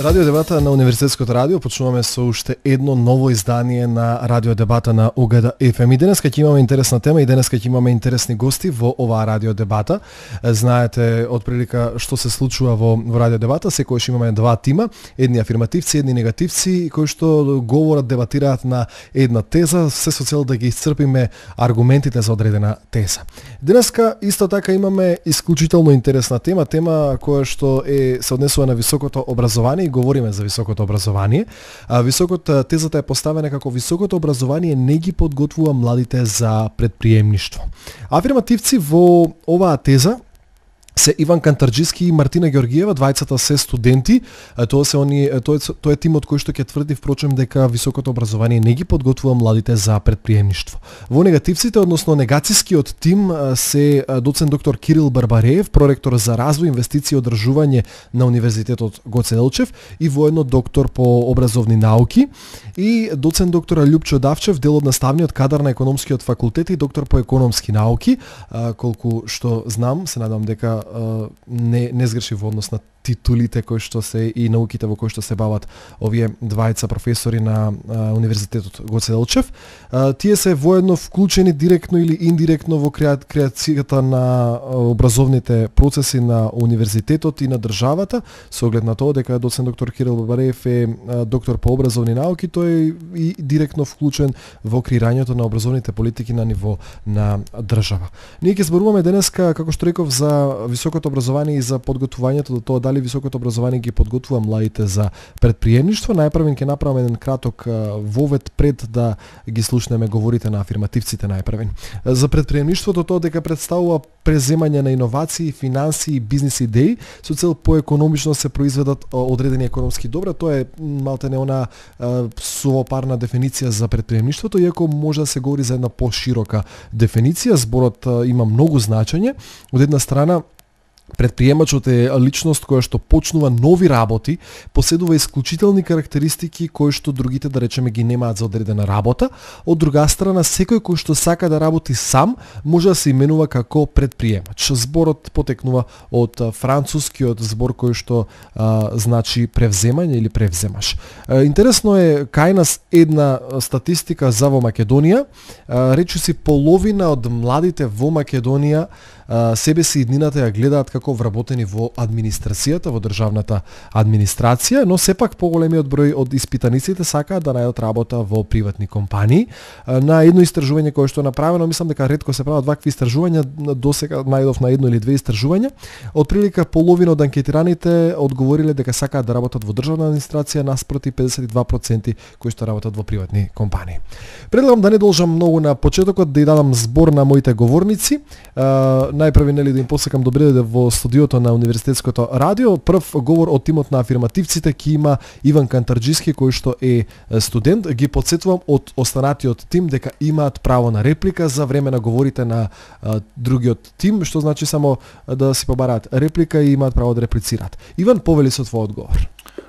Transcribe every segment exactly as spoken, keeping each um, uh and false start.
Радио дебата на Универзитетското радио, почнуваме со уште едно ново издание на Радио дебата на У Г Д Ф М. И денеска ќе имаме интересна тема и денеска ќе имаме интересни гости во оваа радио дебата. Знаете отприлика што се случува во, во радио дебата, секојаш имаме два тима, едни афирмативци, едни негативци, кои што говорат, дебатираат на една теза, се со цел да ги исцрпиме аргументите за одредена теза. Денеска исто така имаме исклучително интересна тема, тема која што е се однесува на високото образование. Говориме за високото образование. А високото тезата е поставена како високото образование не ги подготвува младите за предприемништво. Афирмативци во оваа теза се Иван Кантарџиски и Мартина Ѓоргиева, двајцата се студенти. Тоа се они тоа е, тоа е тимот кој што ќе тврди впрочем дека високото образование не ги подготвува младите за предприемништво. Во негативците, односно негацискиот тим се доцент доктор Кирил Барбареев, проректор за развој, инвестиции и одржување на Универзитетот Гоце Делчев и воедно доктор по образовни науки, и доцент доктор Љупчо Давчев, дел од наставниот кадар на економскиот факултет и доктор по економски науки. Колку што знам, се надам дека не не сгреши во однос на титулите кои што се и науките во кои што се бават овие двајца професори на а, Универзитетот Гоце Делчев. А, тие се воедно вклучени директно или индиректно во креа, креацијата на а, образовните процеси на универзитетот и на државата, со оглед на тоа дека доцент доктор Кирил Барбареев е а, доктор по образовни науки, тој е и директно вклучен во креирањето на образовните политики на ниво на држава. Ние ќе зборуваме денеска, како што реков, за високото образование и за подготвувањето до тоа дали високото образование ги подготвува младите за предприемништво. Најпрво ќе направиме еден краток вовед пред да ги слушнеме говорите на афирмативците најпрво. За предприемништвото тоа дека представува преземање на иновации, финансии и бизнис идеи со цел поекономично се произведат одредени економски добра. Тоа е малтене она сувопарна дефиниција за предприемништвото, иако може да се говори за една поширока дефиниција. Зборот има многу значење. Од една страна, предприемачот е личност која што почнува нови работи, поседува исклучителни карактеристики кои што другите, да речеме, ги немаат за одредена работа. Од друга страна, секој кој што сака да работи сам може да се именува како предприемач. Зборот потекнува од францускиот збор кој што а, значи превземање или превземаш. А, интересно е кај нас една статистика за во Македонија. А, речиси половина од младите во Македонија себе си иднината ја гледаат како вработени во администрацијата, во државната администрација, но сепак поголемиот број од испитаниците сакаат да најдат работа во приватни компании. На едно истражување кое што е направено, мислам дека ретко се прават вакви истражувања, досега најдов на едно или две истражувања, отприлика половина од анкетираните одговориле дека сакаат да работат во државна администрација наспроти педесет и два проценти кои што работат во приватни компании. Предлагам да не должам многу на почетокот, да ја дадам збор на моите говорници. Најпрви, нели, да им посакам добре дојде во студиото на Универзитетското радио. Прв говор од тимот на афирмативците ќе има Иван Кантарџиски, кој што е студент. Ги потсетувам од останатиот тим дека имаат право на реплика за време на говорите на а, другиот тим, што значи само да си побараат реплика и имаат право да реплицираат. Иван, повели со твој одговор.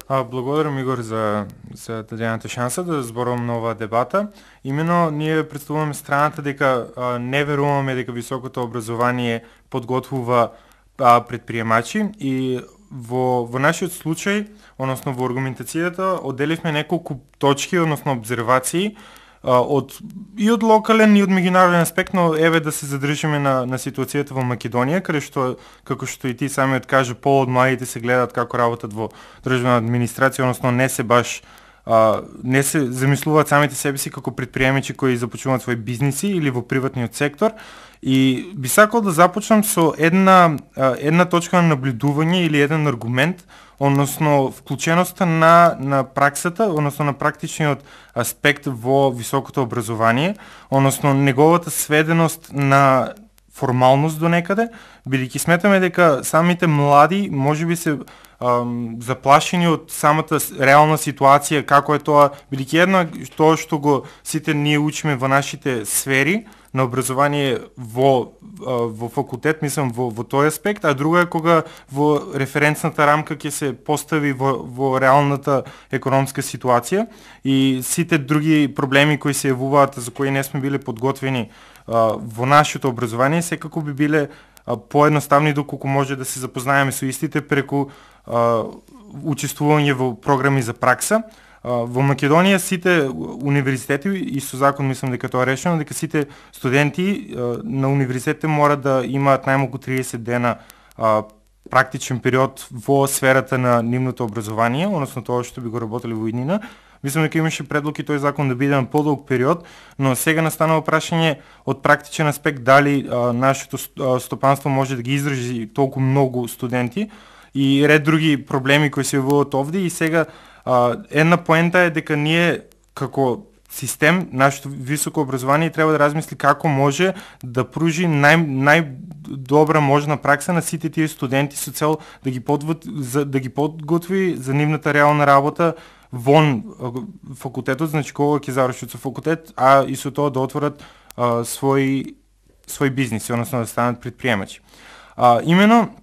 А, благодарам, Игор, за, за дадената шанса да зборувам на оваа дебата. Имено ние представуваме страната дека а, не веруваме дека високото образование подготвува а, предприемачи и во, во нашиот случај, односно во аргументацијата, одделивме неколку точки, односно обзервации, од и од локален и од меѓународен аспект, но еве да се задржиме на на ситуацијата во Македонија, каде што, како што и ти самиот кажа, пол од младите се гледаат како работат во државна администрација, односно не се баш а, не се замислуваат самите себе си како предприемачи кои започнуваат своји бизниси или во приватниот сектор. И би сакал да започнам со една една точка на наблюдување или еден аргумент, односно вклученоста на на праксата, односно на практичниот аспект во високото образование, односно неговата сведеност на формалност до некаде, бидејќи сметаме дека самите млади можеби се ам, заплашени од самата реална ситуација, како е тоа, бидејќи една тоа што го сите ние учиме во нашите сфери на образование во во факултет, мислам во во тој аспект, а друга е кога во референцната рамка ќе се постави во во реалната економска ситуација и сите други проблеми кои се јавуваат за кои не сме биле подготвени во нашето образование, секако би биле поедноставни доколку може да се запознаеме со истите преку а, учествување во програми за пракса. А, во Македонија сите универзитети, и со закон мислам дека тоа е решено, дека сите студенти а, на универзитетите мора да имаат најмалку триесет дена а, практичен период во сферата на нивното образование, односно тоа што би го работеле во иднина. Мислам дека имаше предлог и тој закон да биде на подолг период, но сега настанува прашање од практичен аспект дали а, нашето стопанство може да ги издржи толку многу студенти и ред други проблеми кои се јавуваат овде. И сега а, една поента е дека ние како систем, нашето високо образование треба да размисли како може да пружи нај, најдобра можна пракса на сите тие студенти со цел да ги, подвод, за, да ги подготви за нивната реална работа вон факултетот, значи кога ќе завршат со факултет, а и со тоа да отворат а, свој свој бизнис, односно да станат предприемачи. А, имено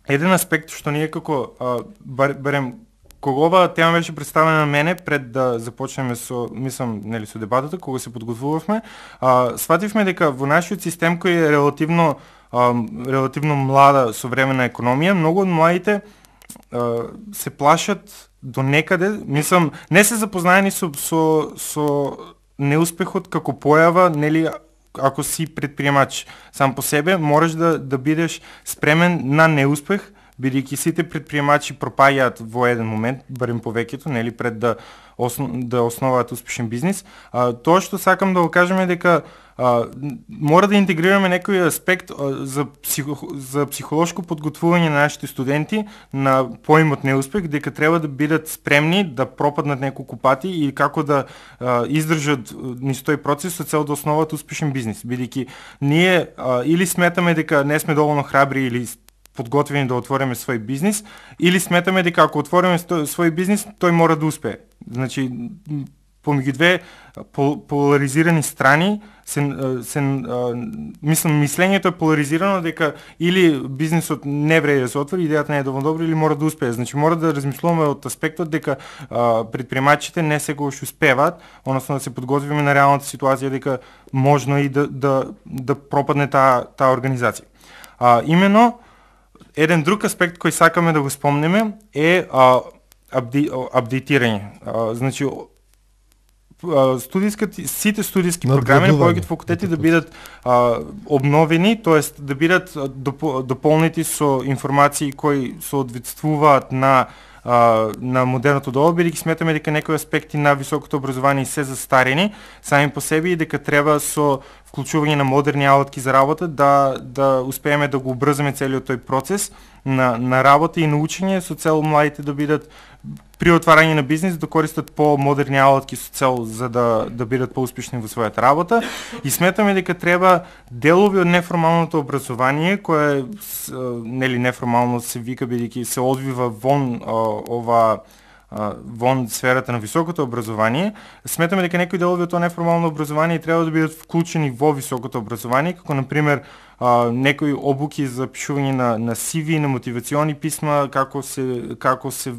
еден аспект што ние како а, бар, барем кога оваа тема беше представена на мене пред да започнеме со, мислам, нели со дебатата, кога се подготвувавме, а, свативме дека во нашиот систем кој е релативно а, релативно млада современа економија, многу од младите а, се плашат до некаде, мислам, не се запознаени со со со неуспехот како појава, нели, ако си предприемач сам по себе, можеш да да бидеш спремен на неуспех, бидејќи сите предприемачи пропаѓаат во еден момент, барем повеќето, нели, пред да основ, да основаат успешен бизнис. А, тоа што сакам да го кажам е дека а, мора да интегрираме некој аспект а, за психо, за психолошко подготвување на нашите студенти на поимот неуспех, дека треба да бидат спремни да пропаднат неколку пати и како да а, издржат низ тој процес со цел да основат успешен бизнис, бидејќи ние а, или сметаме дека не сме доволно храбри или подготвени да отвориме свој бизнис, или сметаме дека ако отвориме свој бизнис, тој мора да успее. Значи, помеѓу две поларизирани страни, се, се, мислам, мислењето е поларизирано дека или бизнисот не вреди да се отвори, идејата не е доволно добра, или мора да успее. Значи, мора да размислуваме од аспектот дека а, предприемачите не секогаш успеваат, односно да се подготвиме на реалната ситуација дека можно и да, да, да пропадне таа та организација. А, имено, еден друг аспект кој сакаме да го спомнеме е а, абди, апдейтирање. А, значи, студијските, сите студијски програми на повеќето факултети да бидат а, обновени, тоест да бидат доп, дополнети со информации кои соодветствуваат на а, на модерното доба, бидејќи сметаме дека некои аспекти на високото образование се застарени сами по себе и дека треба со вклучување на модерни алатки за работа да да успееме да го убрзаме целиот тој процес на на работа и на учење со цел младите да бидат при отварање на бизнис да користат по-модерни алатки со цел за да да бидат поуспешни во својата работа. И сметаме дека треба делови од неформалното образование, кое нели неформално се вика бидејќи се одвива вон ова вон сферата на високото образование, сметаме дека некои делови од тоа неформално образование треба да бидат вклучени во високото образование, како на пример некои обуки за пишување на на си ви, на мотивациони писма, како се како се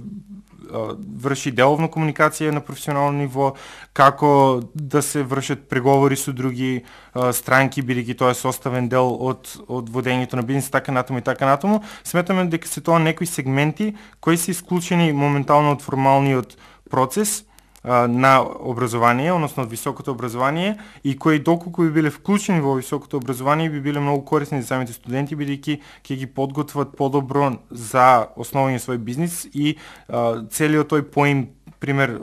врши деловна комуникација на професионално ниво, како да се вршат преговори со други а, странки, бидејќи тоа е составен дел од од водењето на бизнис, така натаму и така натаму. Сметаме дека се тоа некои сегменти кои се исклучени моментално од формалниот процес а, на образование, односно од високото образование, и кои доколку би биле вклучени во високото образование би биле многу корисни за самите студенти, бидејќи ќе ги подготват подобро за основање свој бизнис и а, целиот тој поим, пример,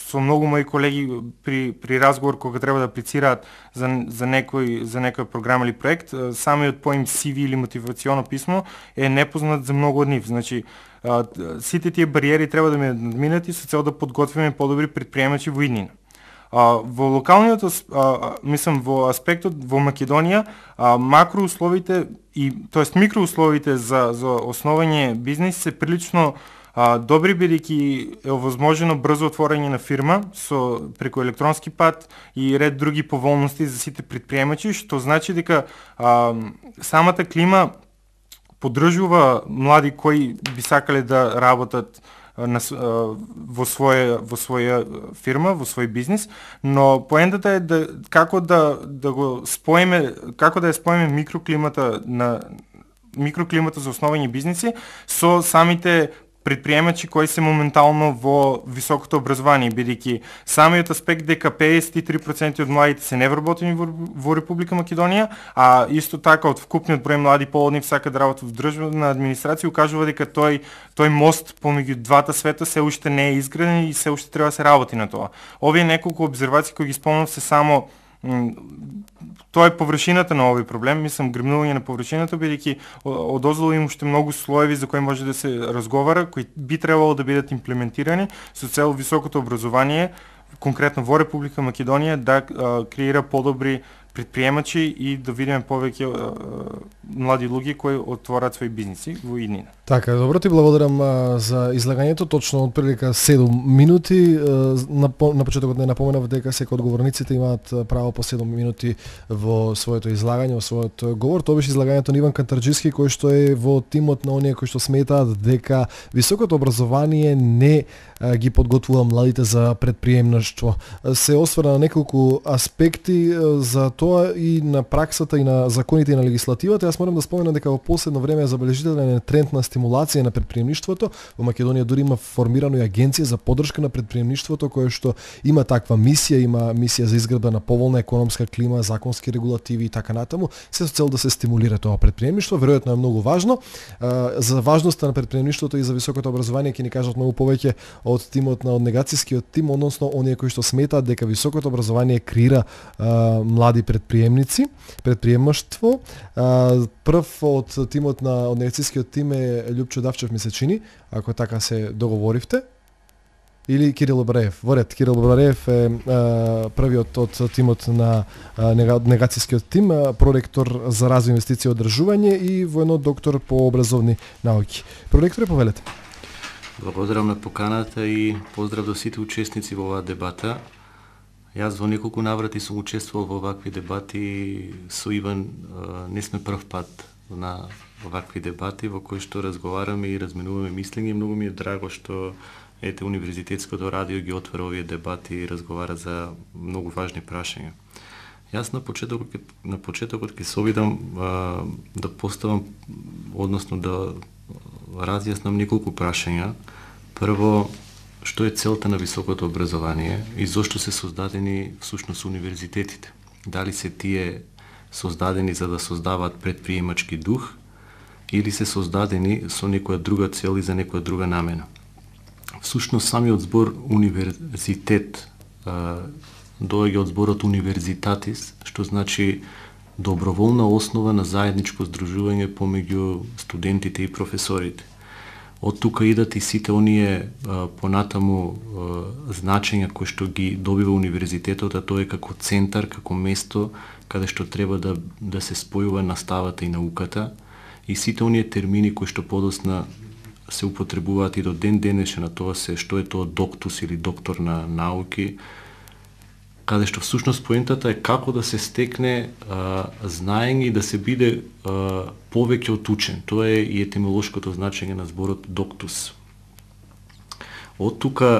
со многу мои колеги при при разговор кога треба да аплицираат за за некој за некоја програма или проект, самиот поим си ви или мотивационо писмо е непознат за многу од нив. Значи, а, сите тие бариери треба да ме надминати со цел да подготвиме подобри предприемачи во иднина. А, во локалниот, а, мислам, во аспектот во Македонија, а, макроусловите и тоест микроусловите за за основање бизнис се прилично а, добри, бидејќи е овозможено брзо отворање на фирма со преку електронски пат и ред други поволности за сите предприемачи, што значи дека а, самата клима поддржува млади кои би сакале да работат на, во своја во своја фирма, во свој бизнис, но поентата е да како да да го споиме, како да ја споиме микроклимата на микроклимата за основни бизниси со самите предприемачи кои се моментално во високото образование, бидејќи самиот аспект дека педесет и три проценти од младите се невработени во, во Република Македонија, а исто така од вкупниот број млади полни сакаат да работат во државна администрација, укажува дека тој тој мост помеѓу двата света се уште не е изграден и се уште треба да се работи на тоа. Овие неколку обзервации кои ги спомнав се само тоа е површината на овој проблем, мислам грмнување на површината, бидејќи одозолу има уште многу слоеви за кои може да се разговара, кои би требало да бидат имплементирани со цел високото образование, конкретно во Република Македонија, да а, креира подобри предприемачи и да видиме повеќе а, млади луѓе кои отворат своји бизниси во иднина. Така, добро, ти благодарам а, за излагањето, точно од прилика седум минути. А, на, на почетокот не напоменав дека секој од говорниците имаат право по седум минути во своето излагање, во својот говор. Тоа беше излагањето на Иван Кантарџиски, кој што е во тимот на оние кои што сметаат дека високото образование не а, ги подготвува младите за предприемништво. Се осврна на неколку аспекти а, за тоа и на праксата и на законите и на легислативата. Јас морам да споменам дека во последно време е забележителен тренд на стимулација на предприемништвото. Во Македонија дури има формирано и агенција за поддршка на предприемништвото која што има таква мисија, има мисија за изградба на поволна економска клима, законски регулативи и така натаму, се со цел да се стимулира тоа предприемништво. Веројатно е многу важно. За важноста на предприемништвото и за високото образование ќе ни кажат многу повеќе од тимот на од негацијскиот тим, односно оние кои што сметаат дека високото образование креира млади предприемници, предприемаштво. Прв од тимот на од негацијскиот тим е Љупчо Давчев, ми се чини, ако така се договоривте. Или Кирил Обраев. Во ред, Кирил Обраев е а, првиот од тимот на а, негацијскиот тим, а, проректор за развој, инвестиција и одржување и воено доктор по образовни науки. Проректоре, повелете. Благодарам на поканата и поздрав до сите учесници во оваа дебата. Јас во неколку наврати сум учествувал во вакви дебати со Иван, не сме прв пат на вакви дебати во кои што разговараме и разменуваме мислење. Многу ми е драго што ете Универзитетското радио ги отвара овие дебати и разговара за многу важни прашања. Јас на почетокот на почетокот ќе се обидам а, да поставам, односно да разјаснам неколку прашања. Прво, што е целта на високото образование и зошто се создадени всушност универзитетите? Дали се тие создадени за да создаваат предприемачки дух или се создадени со некоја друга цел и за некоја друга намена? Всушност самиот збор универзитет доаѓа од зборот универзитатис, што значи доброволна основа на заедничко здружување помеѓу студентите и професорите. Од тука идат и сите оние а, понатаму а, значења кои што ги добива универзитетот, а тоа е како центар, како место каде што треба да, да се спојува наставата и науката, и сите оние термини кои што подосна се употребуваат и до ден денешен, на тоа се што е тоа доктус или доктор на науки, каде што всушност поентата е како да се стекне а, знаење и да се биде а, повеќе од учен. Тоа е и етимолошкото значење на зборот доктус. Од тука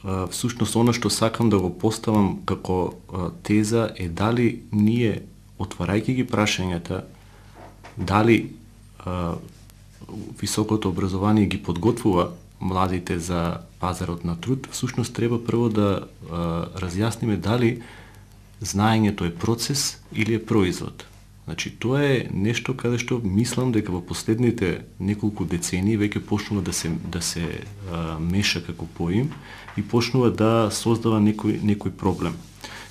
а, всушност она што сакам да го поставам како а, теза е дали ние, отварајќи ги прашањата, дали а, високото образование ги подготвува младите за пазарот на труд, всушност треба прво да а, разјасниме дали знаењето е процес или е производ. Значи, тоа е нешто каде што мислам дека во последните неколку децении веќе почнува да се да се а, меша како поим и почнува да создава некој некој проблем.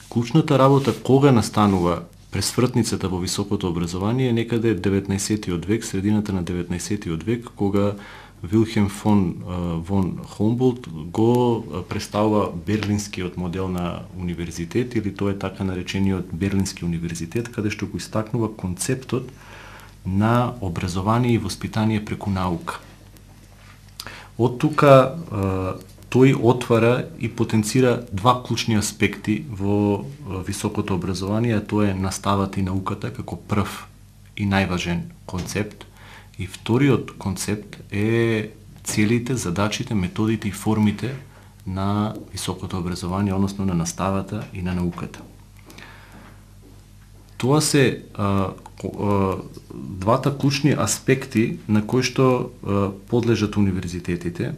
Клучната работа кога настанува пресвртницата во високото образование е некаде деветнаесеттиот век, средината на деветнаесеттиот век, кога Вилхем фон вон Хумболт го представува берлинскиот модел на универзитет, или тоа е така наречениот Берлински универзитет, каде што го истакнува концептот на образование и воспитание преку наука. Од тука тој отвара и потенцира два клучни аспекти во високото образование, а тоа е наставата и науката како прв и најважен концепт. И вториот концепт е целите, задачите, методите и формите на високото образование, односно на наставата и на науката. Тоа се а, двата клучни аспекти на кои што подлежат универзитетите,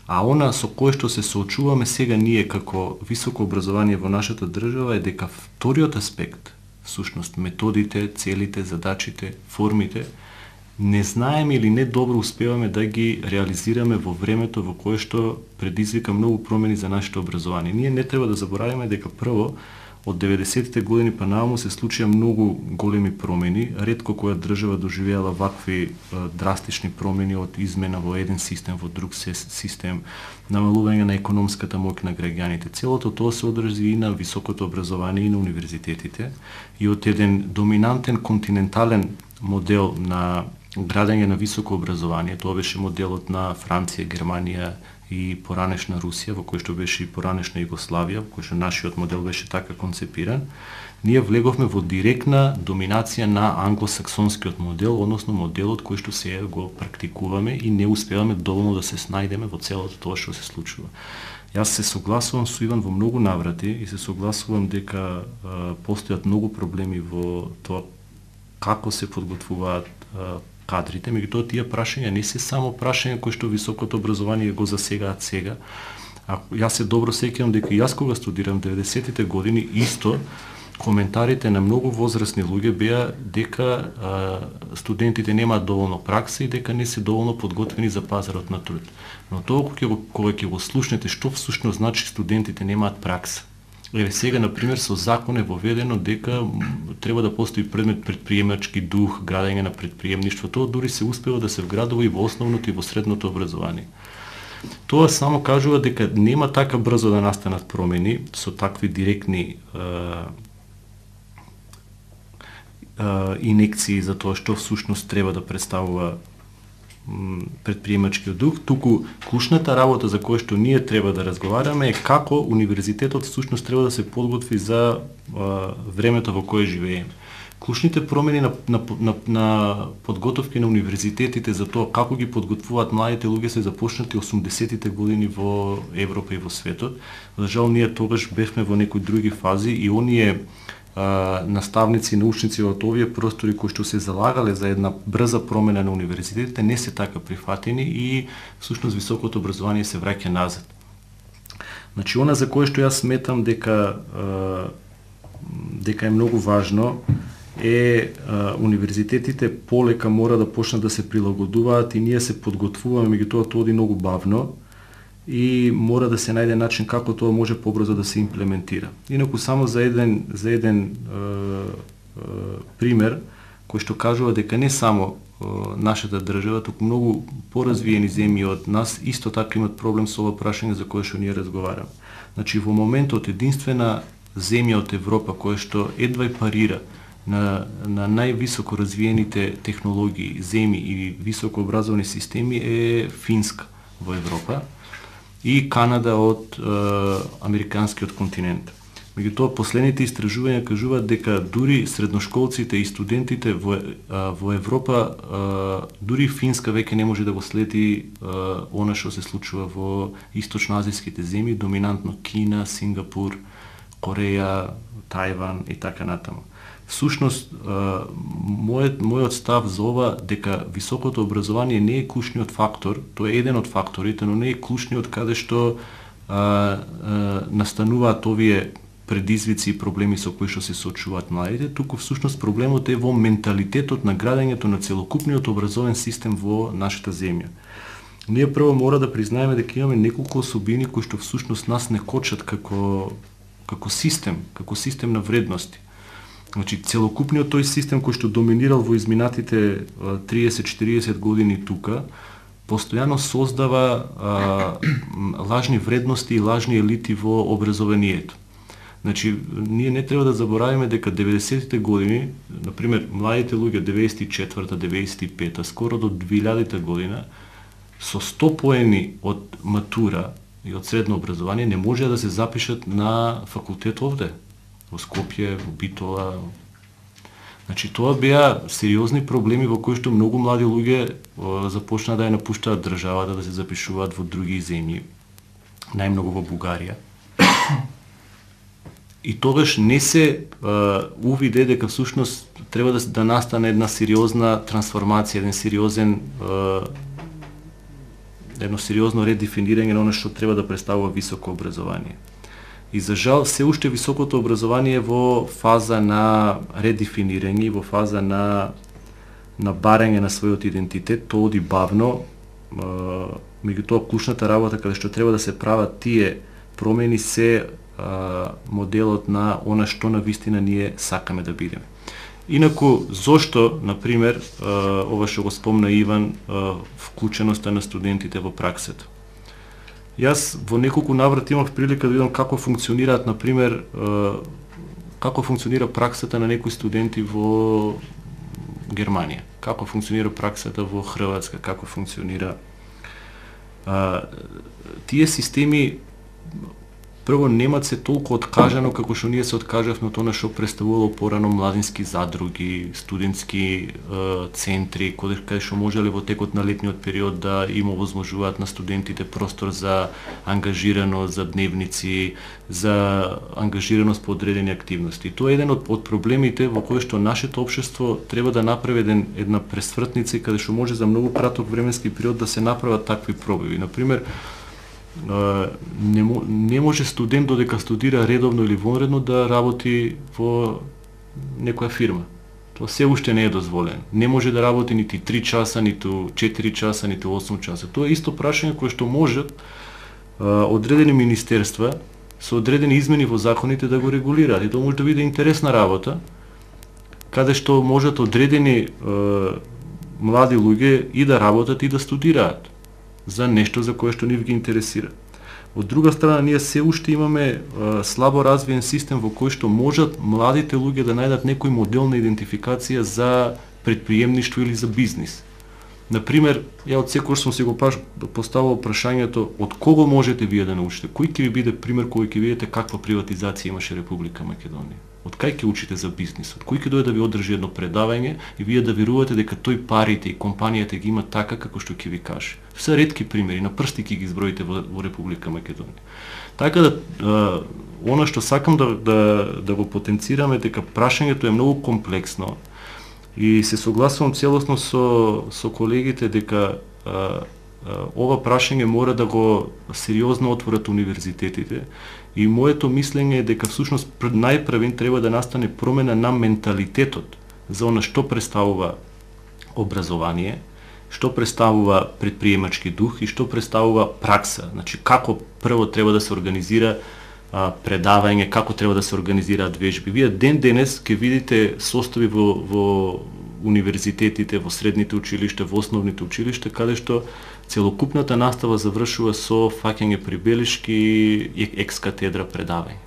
а она со кое што се соочуваме сега ние како високо образование во нашата држава е дека вториот аспект, всушност методите, целите, задачите, формите, не знаеме или не добро успеваме да ги реализираме во времето во кое што предизвика многу промени за нашето образование. Ние не треба да забораваме дека прво од деветдесетите години па нааму се случија многу големи промени, ретко која држава доживеала вакви е, драстични промени од измена во еден систем во друг систем, намалување на економската моќ на граѓаните. Целото тоа се одржи и на високото образование и на универзитетите и од еден доминантен континентален модел на градење на високо образование, тоа беше моделот на Франција, Германија и поранешна Русија, во кој што беше и поранешна Југославија, во кој што нашиот модел беше така концепиран, ние влеговме во директна доминација на англосаксонскиот модел, односно моделот кој што сега го практикуваме и не успеваме доволно да се снајдеме во целото тоа што се случува. Јас се согласувам со Иван во многу наврати и се согласувам дека а, постојат многу проблеми во тоа како се подготвуваат а, кадрите, меѓутоа тие прашања не се само прашања кои што високото образование го засегаат сега. А јас се добро сеќавам дека јас кога студирам деветдесетите години исто коментарите на многу возрастни луѓе беа дека а, студентите немаат доволно пракса и дека не се доволно подготвени за пазарот на труд. Но тоа кога ќе го, кога ќе го слушнете што всушност значи студентите немаат пракса. Еве сега, например, со закон е воведено дека треба да постои предмет предприемачки дух, градење на предприемништво. Тоа дури се успева да се вградува и во основното и во средното образование. Тоа само кажува дека нема така брзо да настанат промени со такви директни е, е, инекции за тоа што всушност треба да представува предприемачкиот дух, туку клучната работа за која што ние треба да разговараме е како универзитетот всушност треба да се подготви за а, времето во кое живееме. Клучните промени на, на, на, на подготовки на универзитетите за тоа како ги подготвуваат младите луѓе се започнати осумдесетите години во Европа и во светот. За жал ние тогаш бевме во некои други фази и оние наставници и научници од овие простори кои што се залагале за една брза промена на универзитетите не се така прифатени и всушност високото образование се враќа назад. Значи, она за кое што јас сметам дека дека е многу важно е универзитетите полека мора да почнат да се прилагодуваат и ние се подготвуваме, меѓутоа тоа оди многу бавно и мора да се најде начин како тоа може побрзо да се имплементира. Инаку само за еден за еден е, е, пример кој што кажува дека не само е, нашата држава, туку многу поразвиени земји од нас исто така имат проблем со ова прашање за кое што ние разговараме. Значи во моментот единствена земја од Европа која што едва парира на на највисоко развиените технологии, земји и високо образовани системи е Финска во Европа и Канада од е, американскиот континент. Меѓутоа, последните истражувања кажуваат дека дури средношколците и студентите во, а, во Европа, а, дури Финска веќе не може да го следи а, она што се случува во источноазијските земји, доминантно Кина, Сингапур, Кореја, Тајван и така натаму. Всушност, мојот, мојот став за ова дека високото образование не е клучниот фактор, тоа е еден од факторите, но не е клучниот каде што а, а, настануваат овие предизвици и проблеми со кои што се соочуваат младите, туку всушност проблемот е во менталитетот на градењето на целокупниот образовен систем во нашата земја. Ние прво мора да признаеме дека имаме неколку особини кои што всушност нас не кочат како како систем, како систем на вредности. Значи, целокупниот тој систем кој што доминирал во изминатите триесет-четириесет години тука, постојано создава а, лажни вредности и лажни елити во образованието. Значи, ние не треба да забораваме дека деветдесетите години, например, младите луѓе деветдесет и четврта, деветдесет и пета, скоро до двилјадета година, со сто поени од матура и од средно образование не можеа да се запишат на факултет овде, во Скопје, во Битола. Значи, тоа беа сериозни проблеми во кои што многу млади луѓе започнаа да ја напуштаат државата, да се запишуваат во други земји, најмногу во Бугарија. И тогаш не се а, увиде дека всушност треба да, да настане една сериозна трансформација, еден сериозен едно сериозно редефинирање на оно што треба да представува високо образование. И за жал, се уште високото образование е во фаза на редефинирање, во фаза на на барање на својот идентитет, тоа оди бавно. Меѓутоа, клучната работа каде што треба да се прават тие промени се а, моделот на она што на вистина ние сакаме да бидеме. Инаку, зошто, например, а, ова што го спомна Иван, а, вклученоста на студентите во праксата? Јас во неколку наврати имав прилика да видам како функционираат, например, а, како функционира праксата на некои студенти во Германија, како функционира праксата во Хрватска, како функционира а, тие системи. Прво, немат се толку откажано како што ние се откажавме од она што представувало порано младински задруги, студентски е, центри, каде, каде што можеле во текот на летниот период да им овозможуваат на студентите простор за ангажираност, за дневници, за ангажираност по одредени активности. Тоа е еден од, од проблемите во кој што нашето општество треба да направи еден, една пресвртница каде што може за многу краток временски период да се направат такви пробиви. Например, Не, не може студент додека студира редовно или вонредно да работи во некоја фирма. Тоа се уште не е дозволено. Не може да работи нити три часа, ниту четири часа, ниту осум часа. Тоа е исто прашање кое што можат одредени министерства со одредени измени во законите да го регулираат. И тоа може да биде интересна работа, каде што можат одредени е, млади луѓе и да работат и да студираат за нешто за кое што нив ги интересира. Од друга страна, ние се уште имаме е, слабо развиен систем во кој што можат младите луѓе да најдат некој модел на идентификација за предприемништво или за бизнис. Например, ја од секој сум си го поставил прашањето од кого можете вие да научите? Кој ќе ви биде пример кој ќе видите каква приватизација имаше Република Македонија? Од кај ќе учите за бизнисот? Кој ќе дојде да ви одржи едно предавање и вие да верувате дека тој парите и компанијата ги има така како што ќе ви каже? Се ретки примери, на прсти ќе ги изброите во, во Република Македонија. Така да, е, она што сакам да, да, да го потенцираме дека прашањето е многу комплексно и се согласувам целосно со, со колегите дека е, ова прашање мора да го сериозно отворат универзитетите и моето мислење е дека всушност најпрвен треба да настане промена на менталитетот за она што представува образование, што представува предприемачки дух и што представува пракса. Значи како прво треба да се организира а, предавање, како треба да се организираат вежби. Вие ден денес ќе видите состави во, во универзитетите, во средните училишта, во основните училишта, каде што целокупната настава завршува со фаќање прибелишки и екс-катедра предавање.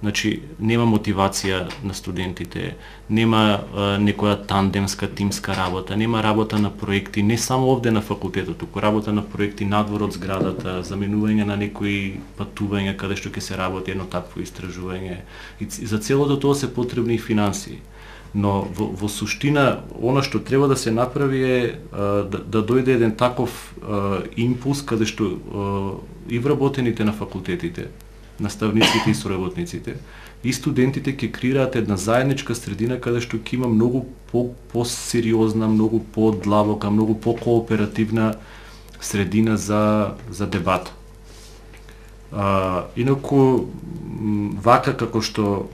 Значи, нема мотивација на студентите, нема а, некоја тандемска, тимска работа, нема работа на проекти, не само овде на факултетот, туку работа на проекти надвор од зградата, заменување на некои патувања каде што ќе се работи едно такво истражување. И за целото тоа се потребни и финансии. Но во, во суштина, она што треба да се направи е а, да, да дојде еден таков а, импулс каде што а, и вработените на факултетите, наставниците и соработниците, и студентите ќе креираат една заедничка средина каде што ќе има многу по, по-сериозна, многу по-длабока, многу по-кооперативна средина за, за дебат. А, инаку, вака како што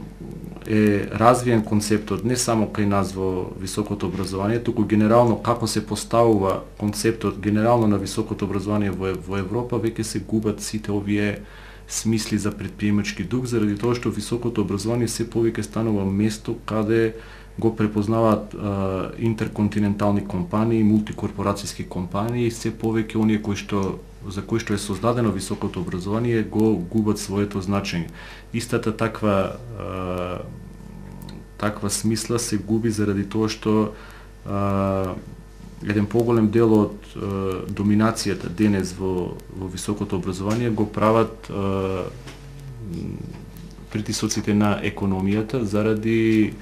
е развиен концептот не само кај нас во високото образование, туку генерално како се поставува концептот генерално на високото образование во, во Европа, веќе се губат сите овие смисли за предприемачки дух, заради тоа што високото образование се повеќе станува место каде го препознаваат а, интерконтинентални компании, мултикорпорацијски компании и се повеќе оние кои што за кои што е создадено високото образование го губат своето значење. Истата таква а, таква смисла се губи заради тоа што а, еден поголем дел од а, доминацијата денес во, во високото образование го прават а, притисоците на економијата заради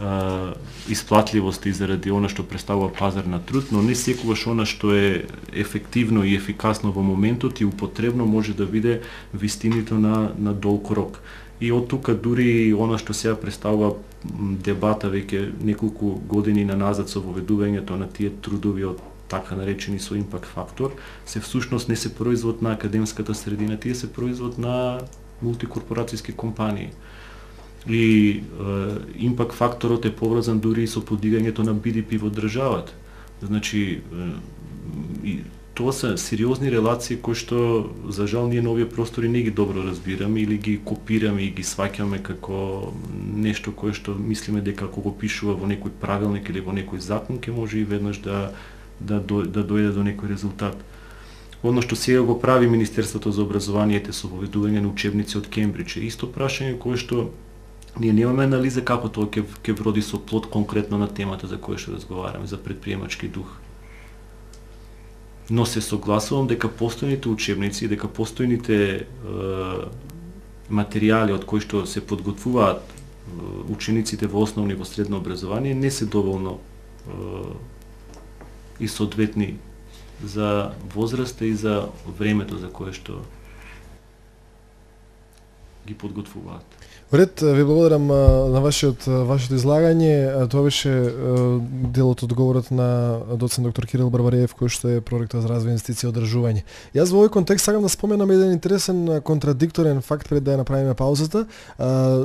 Uh, исплатливост и заради она што представува пазар на труд, но не секогаш она што е ефективно и ефикасно во моментот и употребно може да биде вистинито на, на долг рок. И од тука дури она што сега представува дебата веќе неколку години наназад со воведувањето на тие трудови од така наречени со импакт фактор, се всушност не се производ на академската средина, тие се производ на мултикорпорацијски компании. И импакт факторот е поврзан дури со подигањето на Би Ди Пи во државата. Значи, и тоа се сериозни релации кои што за жал ние на овие простори не ги добро разбираме или ги копираме и ги сваќаме како нешто кое што мислиме дека ако го пишува во некој правилник или во некој закон ќе може и веднаш да да до, да дојде до некој резултат. Оно што сега го прави Министерството за образованието со воведување на учебници од Кембридж е исто прашање кое што ние немаме анализа како тоа ќе ќе вроди со плод конкретно на темата за која што разговараме, за претприемачки дух. Но се согласувам дека постојните учебници, дека постојните е, материјали од кои што се подготвуваат е, учениците во основно и во средно образование не се доволно е, и соодветни за возраста и за времето за кое што ги подготвуваат. Ред, ви благодарам на вашиот вашето излагање. Тоа беше дел од одговорот на доцент доктор Кирил Барбареев, кој што е проректор за развој инвестиции и одржување. Јас во овој контекст сакам да споменам еден интересен контрадикторен факт пред да ја направиме паузата.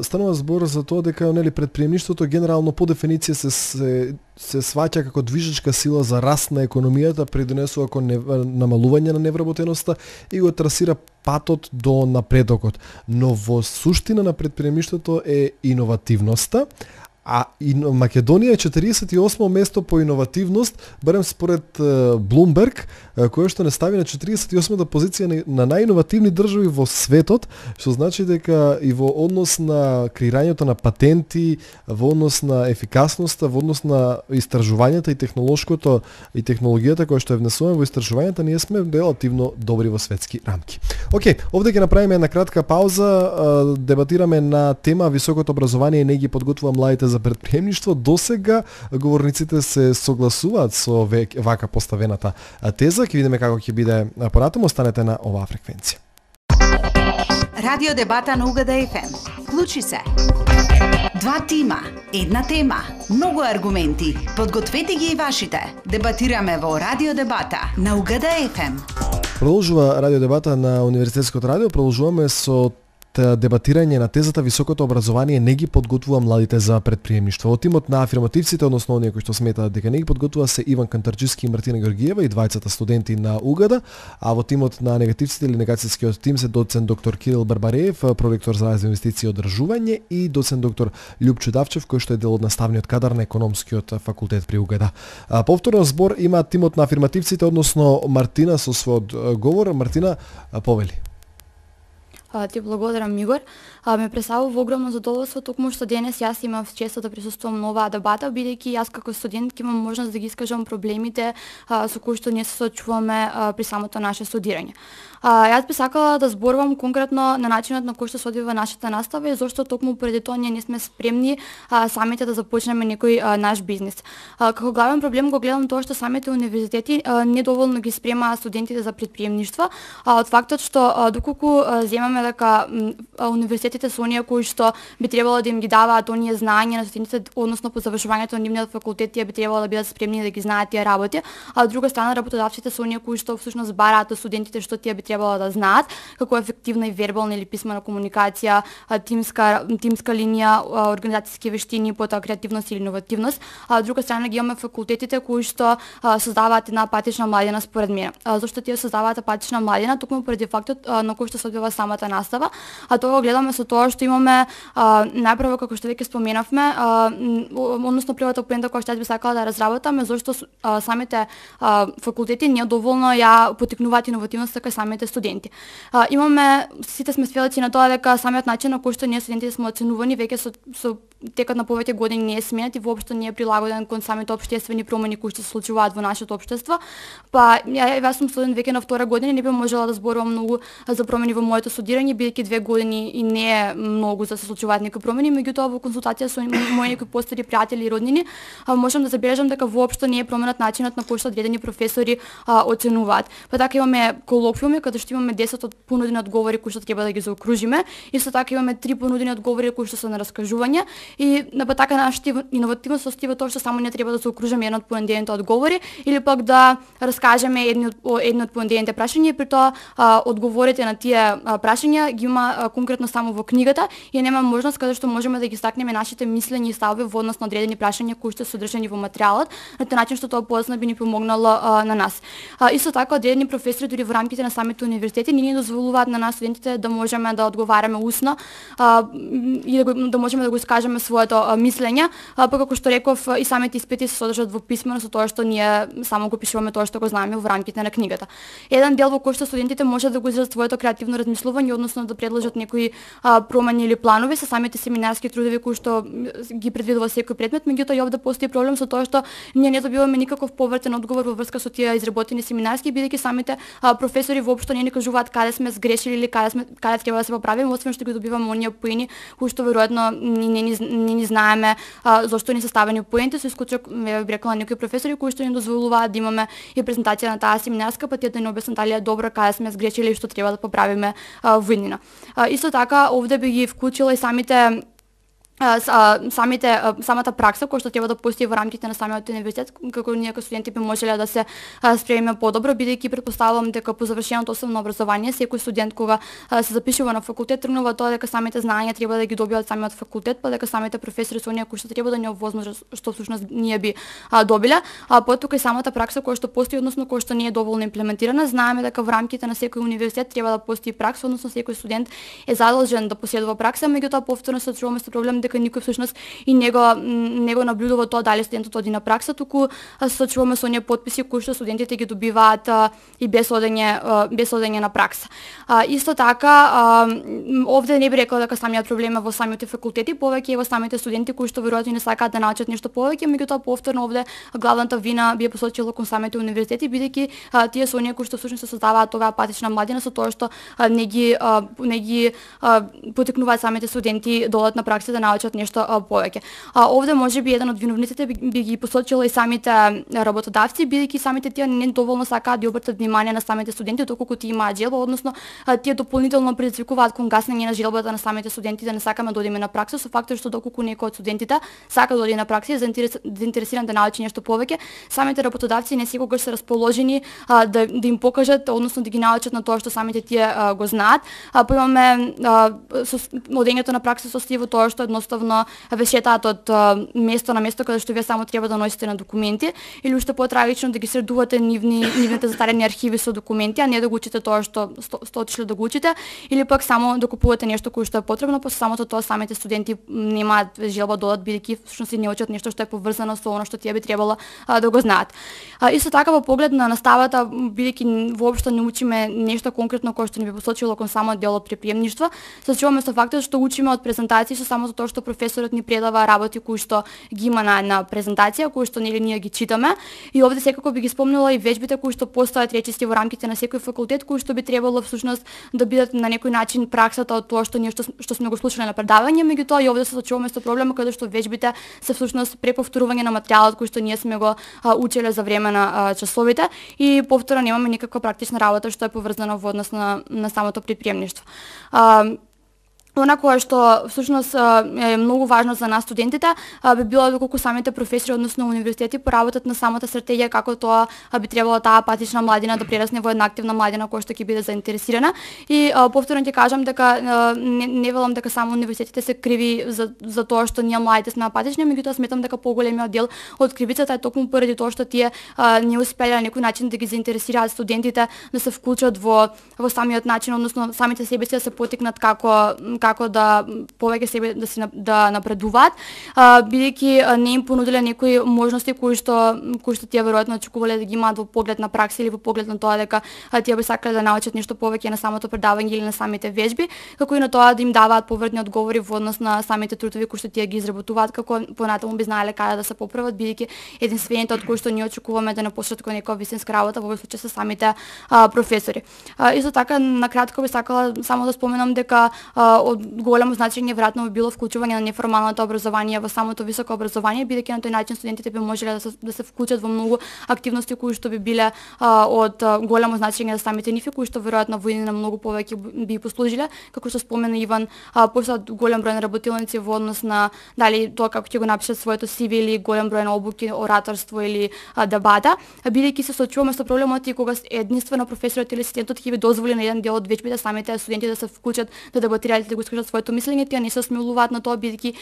Станува збор за тоа дека нели претприемништвото генерално по дефиниција се се се сваќа како движечка сила за раст на економијата, придонесува кон намалување на невработеноста и го трасира патот до напредокот. Но во суштина на претприемништвото е иновативноста, а Македонија е четиридесет и осмо место по иновативност, барем според Bloomberg, кој што не стави на четиридесет и осма позиција на најиновативни држави во светот, што значи дека и во однос на креирањето на патенти, во однос на ефикасноста, во однос на истражувањата и технолошкото и технологијата која што е внесуваме во истражувањата, ние сме релативно добри во светски рамки. Океј, овде ќе направиме една кратка пауза, дебатираме на тема високото образование и не ги подготвува младите за претприемништво. Досега говорниците се согласуваат со вака поставената теза. Ќе видиме како ќе биде понатаму. Останете на оваа фреквенција. Радио дебата на Угада еф ем. Вклучи се. Два тима, една тема, многу аргументи. Подгответе ги и вашите. Дебатираме во Радио дебата на Угада еф ем. Продолжува Радио дебата на Универзитетското радио. Продолжуваме со дебатирање на тезата високото образование не ги подготвува младите за претприемништво. Од тимот на афирмативците, односно оние кои што сметаат дека не ги подготвува, се Иван Кантарџиски и Мартина Георгиева и двајцата студенти на Угада, а во тимот на негативците или негацијскиот тим се доцент доктор Кирил Барбареев, проректор за развој инвестиции и одржување, и доцент доктор Љупчо Давчев, кој што е дел од наставниот кадар на економскиот факултет при Угада. Повторно збор има тимот на афирмативците, односно Мартина со својот говор. Мартина, повели. Ти благодарам, Мигор. А, ме представува огромно задоволство токму што денес јас имав честа да присуствувам на оваа дебата, бидејќи јас како студент ќе имам можност да ги искажам проблемите а, со кои што ние се соочуваме а, при самото наше студирање. А, јас би сакала да зборувам конкретно на начинот на кој што се одвива нашата настава и зошто токму преди тоа ние не сме спремни а, самите да започнеме некој а, наш бизнис. А, како главен проблем го гледам тоа што самите универзитети а, недоволно ги спремаат студентите за претприемништво, а од фактот што а, доколку а, земаме дека а, универзитетите се оние кои што би требало да им ги даваат оние знаења на студентите, односно по завршувањето на нивниот факултет тие би требало да бидат спремни да ги знаат тие работи, а од друга страна работодавците се оние кои што всушност бараат од студентите што тие би требало да знаат, како ефективна и вербална или писмена комуникација, тимска тимска линија, организацијски вештини, потоа креативност или иновативност, а од друга страна ги имаме факултетите кои што а, создаваат една апатична младина според мене. А, зашто тие создаваат апатична младина токму поради фактот а, на кој што се одвива самата настава, а тоа го гледаме со тоа што имаме а, најпрво како што веќе споменавме, а, односно првата поента која што јас би сакала да разработаме, зашто а, самите а, факултети не доволно ја поттикнуваат иновативноста кај самите студенти. А, имаме, сите сме сведоци на тоа дека самиот начин на кој што ние студентите сме оценувани веќе со, со текот на повеќе години не е сменет и воопшто не е прилагоден кон самите општествени промени кои што се случуваат во нашето општество. Па ја, јас сум студент веќе на втора година и не би можела да зборувам многу за промени во моето студирање, планирање, бидејќи две години и не е многу за да се случуваат некои промени, меѓутоа во консултација со мои некои постари пријатели и роднини, можам да забележам дека воопшто не е променет начинот на кој што одредени професори а, оценуваат. Па така имаме колоквиуми каде што имаме десет понудени одговори кои што треба да ги заокружиме. Исто така имаме три понудени одговори кои што се на раскажување и на па така нашата иновативност состои во тоа што само не треба да заокружиме еден од понудените одговори или пак да раскажеме едни од едни од понудените прашања и при тоа а, одговорите на тие а, прашања ги има а, конкретно само во книгата и нема можност каде што можеме да ги стакнеме нашите мислења и ставови во однос на одредени прашања кои што се содржани во материјалот, на тој начин што тоа позна би ни помогнало а, на нас. А, исто така одредени професори дури во рамките на самите универзитети не ни дозволуваат на нас студентите да можеме да одговараме усно а, и да, го, да можеме да го искажеме своето а, мислење, а, па како што реков и самите испити се содржат во писмено со тоа што ние само го пишуваме тоа што го знаеме во рамките на книгата. Еден дел во кој што студентите можат да го изразат своето креативно размислување, односно да предложат некои а, промени или планови со самите семинарски трудови кои што ги предвидува секој предмет, меѓутоа и овде постои проблем со тоа што ние не добиваме никаков повратен одговор во врска со тие изработени семинарски, бидејќи самите а, професори воопшто не ни кажуваат каде сме сгрешили или каде сме каде треба да се поправиме, освен што ги добиваме оние поени кои што веројатно не ни не ни знаеме а, зошто ни се ставени поенти, со исклучок ве рекла некои професори кои што ни дозволуваат да имаме и презентација на таа семинарска, па тие да ни објаснат дали е добро, каде сме сгрешили и што треба да поправиме а, во иднина. А, исто така овде би ги вклучила и самите самите самата пракса која што треба да постои во рамките на самиот универзитет, како ние како студенти би можеле да се спремиме подобро, бидејќи претпоставувам дека по завршеното основно образование секој студент кога се запишува на факултет тргнува тоа дека самите знаења треба да ги добија од самиот факултет, па дека самите професори се оние кои што треба да ни овозможат што всушност ние би добиле, а потоа и самата пракса која што постои, односно која што не е доволно имплементирана. Знаеме дека во рамките на секој универзитет треба да постои пракса, односно секој студент е задолжен да поседува пракса, меѓутоа повторно се соочуваме со проблем дека никој всушност и него него наблюдува тоа дали студентот оди на пракса, туку се соочуваме со оние потписи кои што студентите ги добиваат а, и без одење а, без одење на пракса. А, исто така а, овде не би рекла дека самиот проблем е во самите факултети, повеќе е во самите студенти кои што веројатно не сакаат да научат нешто повеќе, меѓутоа повторно овде главната вина би ја посочила кон самите универзитети, бидејќи тие се оние кои што всушност се создаваат оваа апатична младина со тоа што а, не ги а, не ги а, потекнуваат самите студенти да одат на пракса да научат нешто повеќе. А овде можеби еден од виновниците би, би ги посочила и самите работодавци, бидејќи самите тие не доволно сакаат да обртат внимание на самите студенти доколку тие имаат желба, односно тие дополнително предизвикуваат кон гаснење на желбата на самите студенти да не сакаме да одиме на пракса, со фактор што доколку некој од студентите сака да оди на пракса и заинтересиран да научи нешто повеќе, самите работодавци не секогаш се расположени а, да, да им покажат, односно да ги научат на тоа што самите тие а, го знаат. А, па имаме со одењето на пракса состои во тоа што едноставно ве шетаат од место на место каде што вие само треба да носите на документи или уште потрагично да ги средувате нивни нивните застарени архиви со документи, а не да го учите тоа што сте отишли да го учите, или пак само да купувате нешто кое што е потребно, па самото тоа самите студенти немаат желба да одат, бидејќи всушност не учат нешто што е поврзано со она што тие би требало а, да го знаат. А, исто така во поглед на наставата, бидејќи воопшто не учиме нешто конкретно кое што ни би посочило кон самиот дел од припремништво, се соочуваме со фактот што учиме од презентации со самото тоа што професорот ни предава работи кои што ги има на една презентација, кои што нели ние ги читаме, и овде секако би ги спомнила и вежбите кои што постојат речисти во рамките на секој факултет, кои што би требало всушност да бидат на некој начин праксата од тоа што ние што, што сме го слушале на предавање, меѓутоа и овде се соочуваме со проблема каде што вежбите се всушност преповторување на материјалот кој што ние сме го а, учеле за време на а, часовите и повторно немаме никаква практична работа што е поврзана во однос на, на самото припремништво. А, Она кое што всушност е многу важно за нас студентите би било доколку самите професори, односно универзитети, поработат на самата стратегија како тоа би требало таа апатична младина да прерасне во една активна младина која што ќе биде заинтересирана. И повторно ќе кажам дека не, не велам дека само универзитетите се криви за, за тоа што ние младите сме апатични, меѓутоа сметам дека поголемиот дел од кривицата е токму поради тоа што тие а, не успеле на некој начин да ги заинтересираат студентите да се вклучат во во самиот начин, односно самите себе си да се потикнат како како да повеќе себе да се да напредуваат, бидејќи не им понудиле некои можности кои што кои што тие веројатно очекувале да ги имаат во поглед на пракса или во поглед на тоа дека тие би сакале да научат нешто повеќе на самото предавање или на самите вежби, како и на тоа да им даваат повртни одговори во однос на самите трудови кои што тие ги изработуваат, како понатаму би знаеле каде да се поправат, бидејќи единствените од кои што ние очекуваме да напуштат кон некоја вистинска работа во овој случај се самите а, професори. А, исто така на кратко би сакала само да споменам дека а, од големо значење веројатно би било вклучување на неформалното образование во самото високо образование, бидејќи на тој начин студентите би можеле да се, да се вклучат во многу активности кои што би биле а, од а, големо значење за самите нив, кои што веројатно во иднина многу повеќе би послужиле, како што спомена Иван, а, постојат голем број на работилници во однос на дали тоа како ќе го напишат своето си ви или голем број на обуки, ораторство или а, дебата, бидејќи се соочуваме со проблемот и кога единствено професорот или студентот ќе ви дозволи на еден дел од вечбите самите студенти да се вклучат, да дебатираат и да го искажат своето мислење, тие не се смилуваат на тоа бидејќи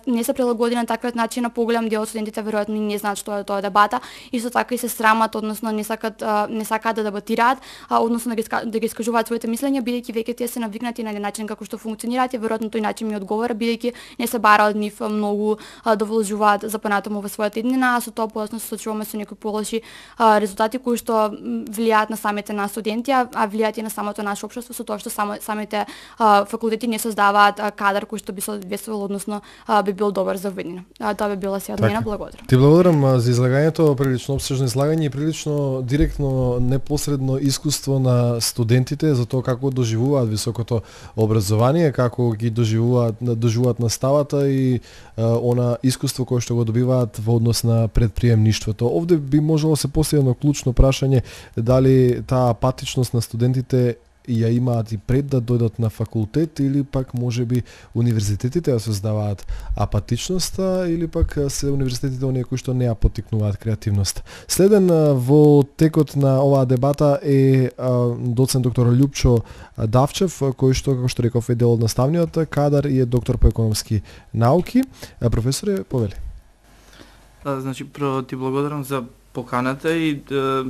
не се прилагодени на таквиот начин, на поголем дел од студентите веројатно не знаат што е тоа дебата, исто така и се срамат, односно не сакат не сакаат да дебатираат, а односно да ги да ги искажуваат своите мислења, бидејќи веќе тие се навикнати на начин како што функционираат и веројатно тој начин ми одговара, бидејќи не се бара од нив многу да вложуваат за понатаму во својата иднина, а со тоа подоцна се соочуваме со некои полоши резултати кои што влијаат на самите нас студенти, а влијаат и на самото наше општество со тоа што само самите а, факултети не создаваат а, кадар кој што би соодветствувал, односно а, би бил добар за виднина. А, тоа би била се од мене, благодарам. Ти благодарам за излагањето, прилично опсежно излагање и прилично директно непосредно искуство на студентите за тоа како доживуваат високото образование, како ги доживуваат доживуваат наставата и а, она искуство кое што го добиваат во однос на предприемништвото. Овде би можело се постави едно клучно прашање дали таа апатичност на студентите ја имаат и пред да дојдат на факултет или пак можеби универзитетите ја создаваат апатичноста или пак се универзитетите оние кои што не ја поттикнуваат креативност. Следен во текот на оваа дебата е доцент доктор Љупчо Давчев, кој што, како што реков, е дел од наставниот кадар и е доктор по економски науки. Професоре, повели. А, значи, прво ти благодарам за поканата и да,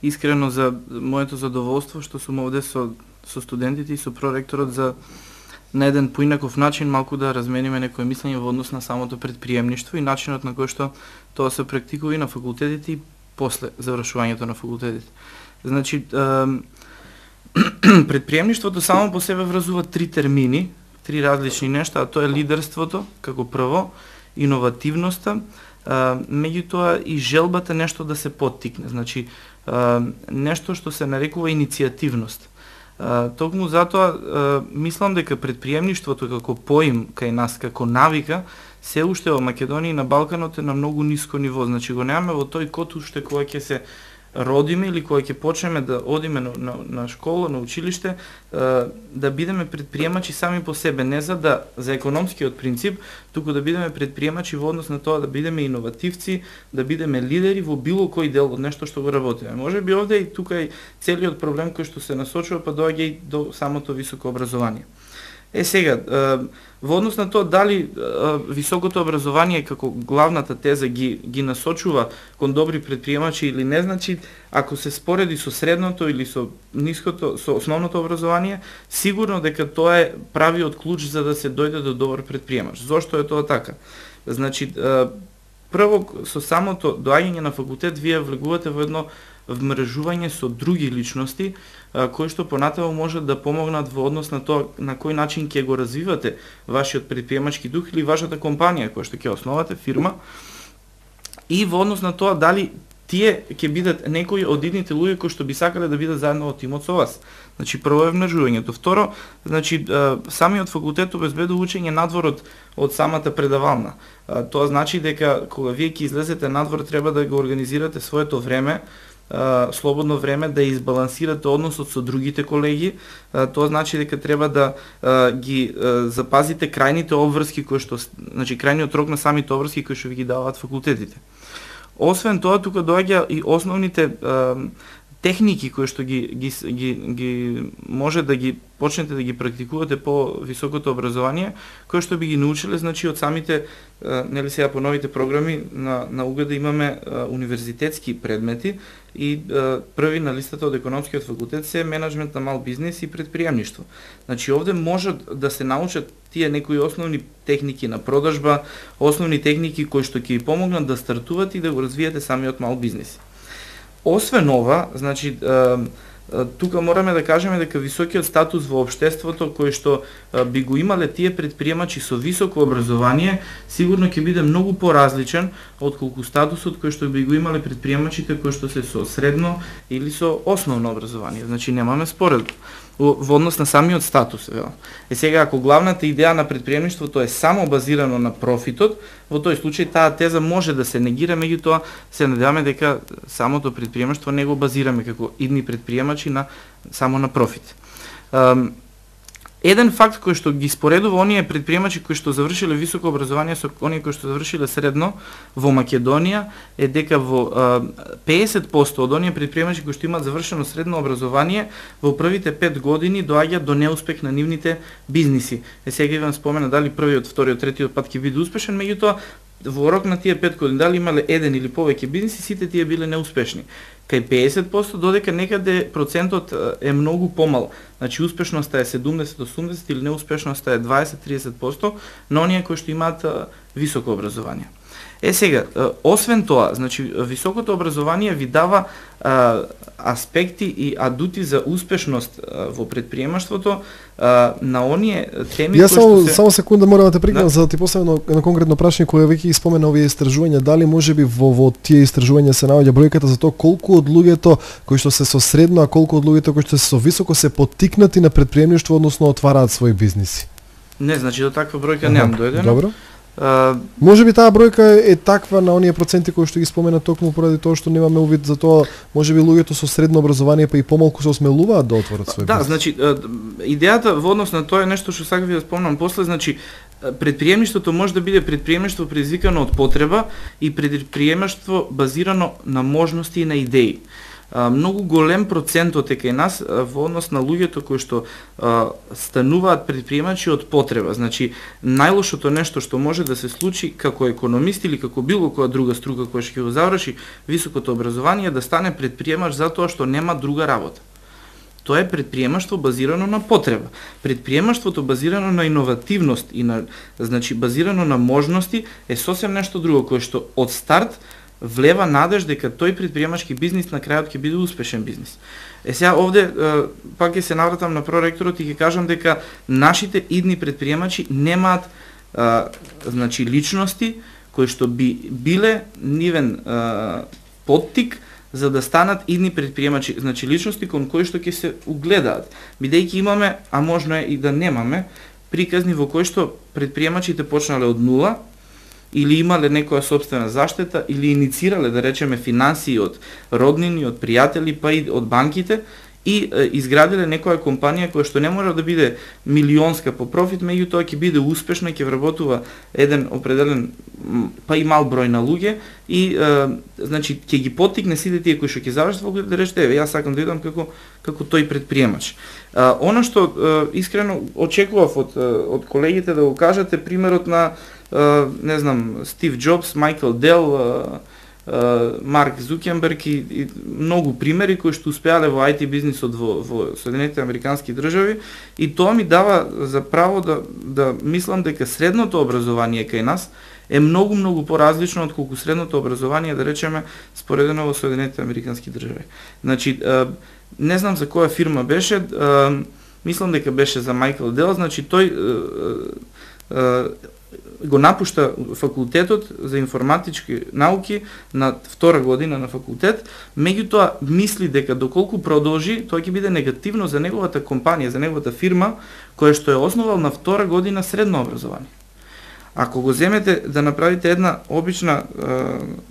искрено за моето задоволство што сум овде со, со студентите и со проректорот за на еден поинаков начин малку да размениме некој мислење во однос на самото предприемништво и начинот на кој што тоа се практикува и на факултетите и после завршувањето на факултетите. Значи, предприемништвото само по себе вразува три термини, три различни нешта, а тоа е лидерството како прво, иновативноста, меѓутоа и желбата нешто да се поттикне, значи нешто што се нарекува иницијативност. Токму затоа мислам дека предприемништвото како поим кај нас, како навика, се уште во Македонија и на Балканот е на многу ниско ниво, значи го немаме во тој код уште кога ќе се родиме или кога ќе почнеме да одиме на, на, на школа, на училиште, да бидеме предприемачи сами по себе, не за да за економскиот принцип, туку да бидеме предприемачи во однос на тоа да бидеме иновативци, да бидеме лидери во било кој дел од нешто што го работиме. Може би овде и тука и целиот проблем кој што се насочува па доаѓа и до самото високо образование. Е сега, во однос на тоа дали високото образование како главната теза ги ги насочува кон добри предприемачи или не, значи ако се спореди со средното или со ниското, со основното образование, сигурно дека тоа е правиот клуч за да се дојде до добар предприемач. Зошто е тоа така? Значи, прво со самото доаѓање на факултет вие влегувате во едно вмрежување со други личности кои што понатаму можат да помогнат во однос на тоа на кој начин ќе го развивате вашиот предприемачки дух или вашата компанија која што ќе основате фирма и во однос на тоа дали тие ќе бидат некои од идните луѓе кои што би сакале да бидат заедно во тимот со вас. Значи прво е вмрежувањето, второ, значи самиот факултет обезбедува учење надвор од, од самата предавална. Тоа значи дека кога вие ќе излезете надвор треба да го организирате своето време, слободно време, да избалансирате односот со другите колеги. Тоа значи дека треба да ги запазите крајните обврски кои што, значи крајниот рок на самите обврски кои што ви ги даваат факултетите. Освен тоа, тука доаѓа и основните техники кои што ги, ги, ги, ги може да ги почнете да ги практикувате по високото образование, кои што би ги научиле, значи од самите, нели сега по новите програми на, на УГД имаме а, универзитетски предмети и а, први на листата од економскиот факултет се менеджмент на мал бизнис и предприемништво. Значи овде може да се научат тие некои основни техники на продажба, основни техники кои што ќе ви помогнат да стартувате и да го развиете самиот мал бизнис. Освен ова, значи, тука мораме да кажеме дека високиот статус во општеството кој што би го имале тие предприемачи со високо образование, сигурно ќе биде многу поразличен отколку статусот кој што би го имале предприемачите кои што се со средно или со основно образование. Значи немаме споредба во однос на самиот статус. Е сега, ако главната идеја на предприемништвото е само базирано на профитот, во тој случај таа теза може да се негира, меѓутоа се надеваме дека самото предприемништво не го базираме како идни предприемачи на само на профит. Еден факт кој што ги споредува оние предприемачи кои што завршиле високо образование со оние кои што завршиле средно во Македонија е дека во песет проценти од оние предприемачи кои што имаат завршено средно образование во првите пет години доаѓаат до неуспех на нивните бизниси. Е сега вам спомена дали првиот, вториот, третиот пат ќе биде успешен, меѓутоа во рок на тие пет години дали имале еден или повеќе бизниси, сите тие биле неуспешни. Кај песет проценти додека некаде процентот е многу помал. Значи успешноста е седумдесет до осумдесет или неуспешноста е дваесет до тридесет проценти на оние кои што имаат високо образование. Е сега, освен тоа, значи високото образование ви дава а, аспекти и адути за успешност а, во предприемаштвото а, на оние теми Ја кои само, што се... само секунда морам да те прекинам да? за да ти поставам едно конкретно прашање кое веќе спомена овие истражувања, дали можеби во во тие истражувања се наоѓа бројката за тоа колку од луѓето кои што се со средно, а колку од луѓето кои што се со високо се поттикнати на предприемништво, односно отвараат свои бизниси? Не, значи до таква бројка немам дојдено. Добро. Uh, Може би таа бројка е таква на оние проценти кои што ги спомена токму поради тоа што немаме увид за тоа, може би луѓето со средно образование па и помалку се осмелуваат да отворат свој да, бизнис. значи идејата во однос на тоа е нешто што сакав да спомнам после, значи предприемништвото може да биде предприемништво предизвикано од потреба и предприемништво базирано на можности и на идеи. Uh, многу голем процентот е кај нас uh, во однос на луѓето кои што uh, стануваат предприемачи од потреба. Значи, најлошото нешто што може да се случи како економист или како било која друга струка која ќе го заврши високото образование да стане предприемач затоа што нема друга работа. Тоа е предприемаштво базирано на потреба. Предприемаштвото базирано на иновативност и на, значи, базирано на можности е сосем нешто друго кое што од старт влева надеж дека тој предприемачки бизнис на крајот ќе биде успешен бизнис. Е сега овде пак ќе се навратам на проректорот и ќе кажам дека нашите идни предприемачи немаат а, значи личности кои што би биле нивен а, поттик за да станат идни предприемачи, значи личности кон кои што ќе се угледаат. Бидејќи имаме, а можно е и да немаме, приказни во кои што предприемачите почнале од нула или имале некоја собствена заштета, или иницирале, да речеме, финансии од роднини, од пријатели, па и од банките, и е, изградиле некоја компанија која што не мора да биде милионска по профит, меѓутоа ќе биде успешна, ќе вработува еден определен, па и мал број на луѓе, и е, значи ќе ги поттикне сите тие кои што ќе завршат во да речете, еве, јас сакам да идам како како тој предприемач. А, она што е, искрено очекував од од колегите да го кажете примерот на Uh, не знам, Стив Джобс, Майкл Дел, uh, uh, Марк Зукенберг и, и многу примери кои што успеале во ай ти бизнисот во, во Соединетите Американски држави, и тоа ми дава за право да, да мислам дека средното образование кај нас е многу, многу поразлично од колку средното образование, да речеме, споредено во Соединетите Американски држави. Значи, uh, не знам за која фирма беше, uh, мислам дека беше за Майкл Дел, значи тој uh, uh, го напушта факултетот за информатички науки на втора година на факултет, меѓутоа мисли дека доколку продолжи, тоа ќе биде негативно за неговата компанија, за неговата фирма, која што е основал на втора година средно образование. Ако го земете да направите една обична,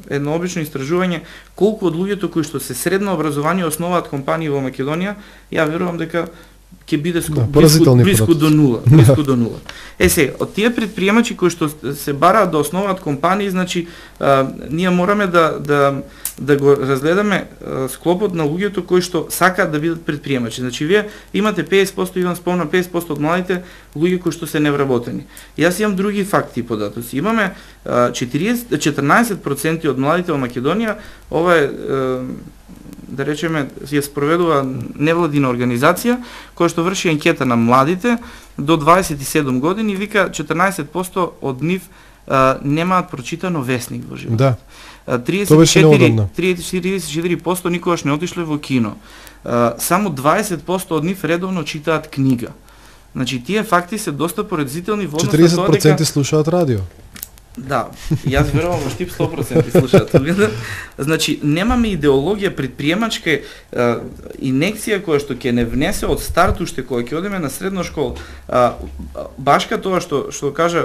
едно обично истражување, колку од луѓето кои што се средно образование основаат компании во Македонија, ја верувам дека ќе биде ско, да, близко, близко до нула, близко до нула. Е се, од тие предприемачи кои што се бараат да основаат компании, значи а, ние мораме да да да го разгледаме а, склопот на луѓето кои што сакаат да бидат предприемачи. Значи вие имате песет проценти, Иван спомна, песет проценти од младите луѓе кои што се невработени. Јас имам други факти и податоци. Имаме а, четириесет четрнаесет проценти од младите во Македонија, ова е а, да речеме, ја спроведува невладина организација која што врши анкета на младите до дваесет и седум години и вика четрнаесет проценти од нив а, немаат прочитано весник во животот. Да. триесет и четири триесет и четири проценти никогаш не отишле во кино. А, само дваесет проценти од нив редовно читаат книга. Значи тие факти се доста поразителни во однос на тоа дека четириесет проценти слушаат радио. Да, јас верувам во Штип сто проценти слушаат. Значи, немаме идеологија предприемачка е, инекција која што ќе не внесе од старт уште кога ќе одиме на средна школа. А, башка тоа што што кажа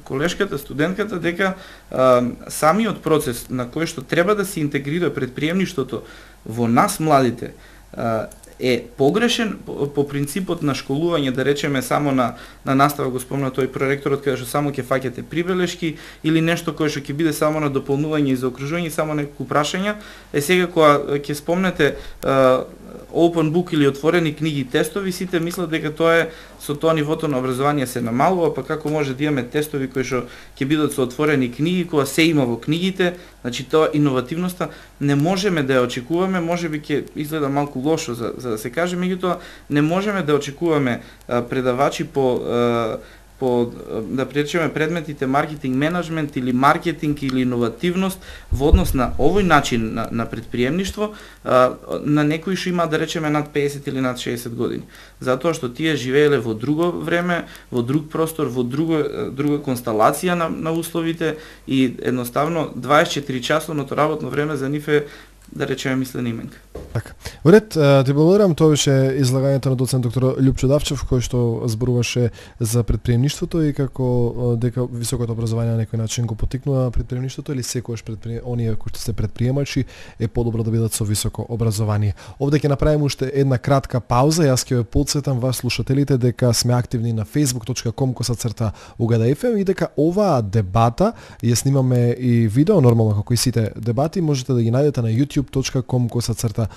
колешката, студентката, дека а, самиот процес на кој што треба да се интегрира предприемништвото во нас младите а, е погрешен по, по принципот на школување, да речеме само на на настава, го спомна тој проректорот, каде што само ќе фаќате прибелешки или нешто кое што ќе биде само на дополнување и заокружување, само неколку прашања. Е сега кога ќе спомнете uh, open book или отворени книги и тестови, сите мислат дека тоа е со тоа нивото на образование се намалува, па како може да имаме тестови кои што ќе бидат со отворени книги, кога се има во книгите, значи тоа иновативноста не можеме да ја очекуваме, можеби ќе изгледа малку лошо за, за да се каже, меѓутоа не можеме да очекуваме а, предавачи по а, по да пречеме предметите маркетинг менеджмент или маркетинг или иновативност во однос на овој начин на, на предприемништво а, на некои што има да речеме над песет или над шеесет години. Затоа што тие живееле во друго време, во друг простор, во друго, друга констелација на, на условите и едноставно дваесет и четири часовното работно време за нив е да речеме мислена именка. Така. Во ред, ти благодарам, тоа беше излагањето на доцент доктор Љупчо Давчев, кој што зборуваше за предприемништвото и како дека високото образование на некој начин го поттикнува предприемништвото или секојаш предпри... оние кои што се предприемачи е подобро да бидат со високо образование. Овде ќе направиме уште една кратка пауза, јас ќе ве потсетам вас слушателите дека сме активни на facebook точка com косацрта угада еф ем и дека оваа дебата ја снимаме и видео, нормално како и сите дебати, можете да ги најдете на youtube точка com косацрта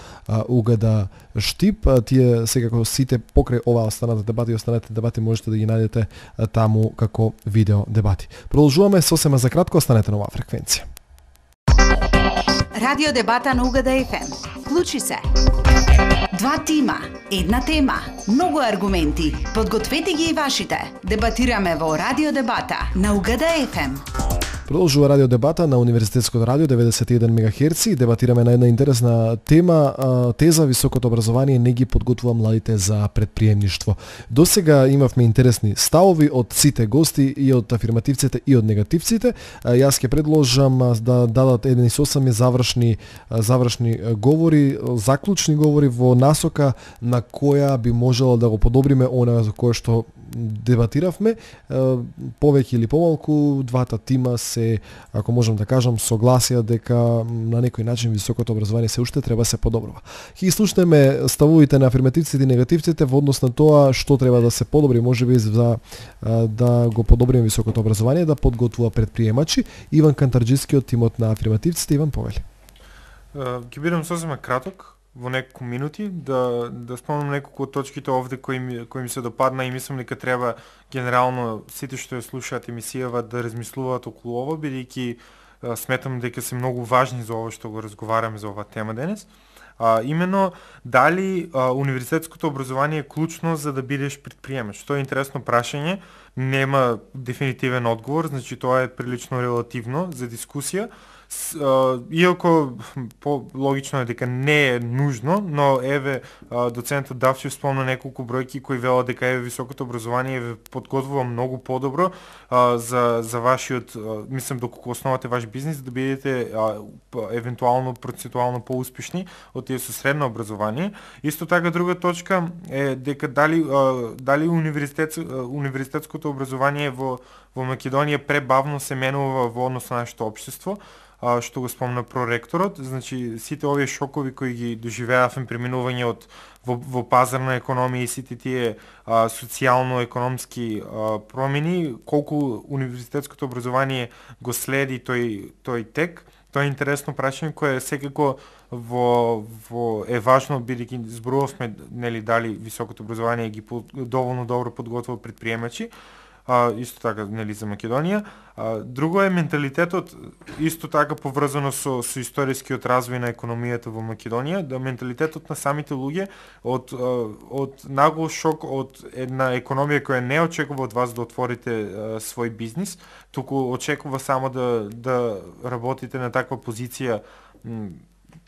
угада штип. Тие секако сите покрај оваа останата дебати и останатите дебати можете да ги најдете таму како видео дебати. Продолжуваме сосема за кратко, останете на оваа фреквенција. Радио дебата на Угада еф ем. Вклучи се. Два тима, една тема, многу аргументи. Подгответе ги и вашите. Дебатираме во Радио дебата на Угада еф ем. Продолжува радио дебата на Универзитетското радио деветдесет и еден мегахерци и дебатираме на една интересна тема, теза високото образование не ги подготвува младите за предприемништво. Досега имавме интересни ставови од сите гости и од афирмативците и од негативците. Јас ќе предложам да дадат еден и сосем завршни завршни говори, заклучни говори во насока на која би можело да го подобриме она за кое што дебатиравме. Повеќе или помалку двата тима се, ако можам да кажам, согласија дека на некој начин високото образование се уште треба се подобрува. Ќе слушнеме ставовите на афирмативците и негативците во однос на тоа што треба да се подобри, можеби за да го подобриме високото образование, да подготвува предприемачи. Иван Кантарџиски од тимот на афирмативците. Иван, повели. Ќе бидам сосема краток во неколку минути да да спомнам неколку од точките овде кои ми кои ми се допадна и мислам дека треба генерално сите што ја слушаат емисијава да размислуваат околу ова, бидејќи сметам дека се многу важни за ова што го разговараме за оваа тема денес. А, именно дали а, универзитетското образование е клучно за да бидеш предприемач? Тоа е интересно прашање, нема дефинитивен одговор, значи тоа е прилично релативно за дискусија. С, а, иако по-логично е дека не е нужно, но еве а, доцентот Давчев спомна неколку бројки кои велат дека еве високото образование ве подготвува многу подобро а, за за вашиот, а, мислам доколку основате ваш бизнис да бидете а, евентуално процентуално поуспешни од тие со средно образование. Исто така друга точка е дека дали а, дали универзитет универзитетското образование во во Македонија пребавно се менува во однос на нашето општество, а, што го спомна проректорот. Значи сите овие шокови кои ги доживеавме, преминување од во, во пазарна економија и сите тие а, социјално-економски а, промени, колку универзитетското образование го следи тој тој тек. Тоа е интересно прашање кое секако во во е важно, бидејќи зборувавме нели дали високото образование ги по, доволно добро подготвува предприемачи. А, исто така нели за Македонија. А, друго е менталитетот, исто така поврзано со со историскиот развој на економијата во Македонија, да менталитетот на самите луѓе од од нагол шок од една економија која не очекува од вас да отворите а, свој бизнис, туку очекува само да да работите на таква позиција м,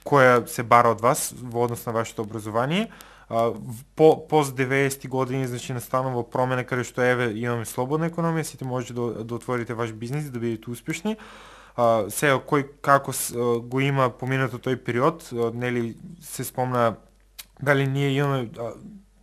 која се бара од вас во однос на вашето образование. Uh, по пост деветдесети години, значи настанува промена каде што еве имаме слободна економија, сите можете да, да отворите ваш бизнис, да бидете успешни. Uh, сега кој како uh, го има поминато тој период, uh, нели се спомна дали ние имаме uh,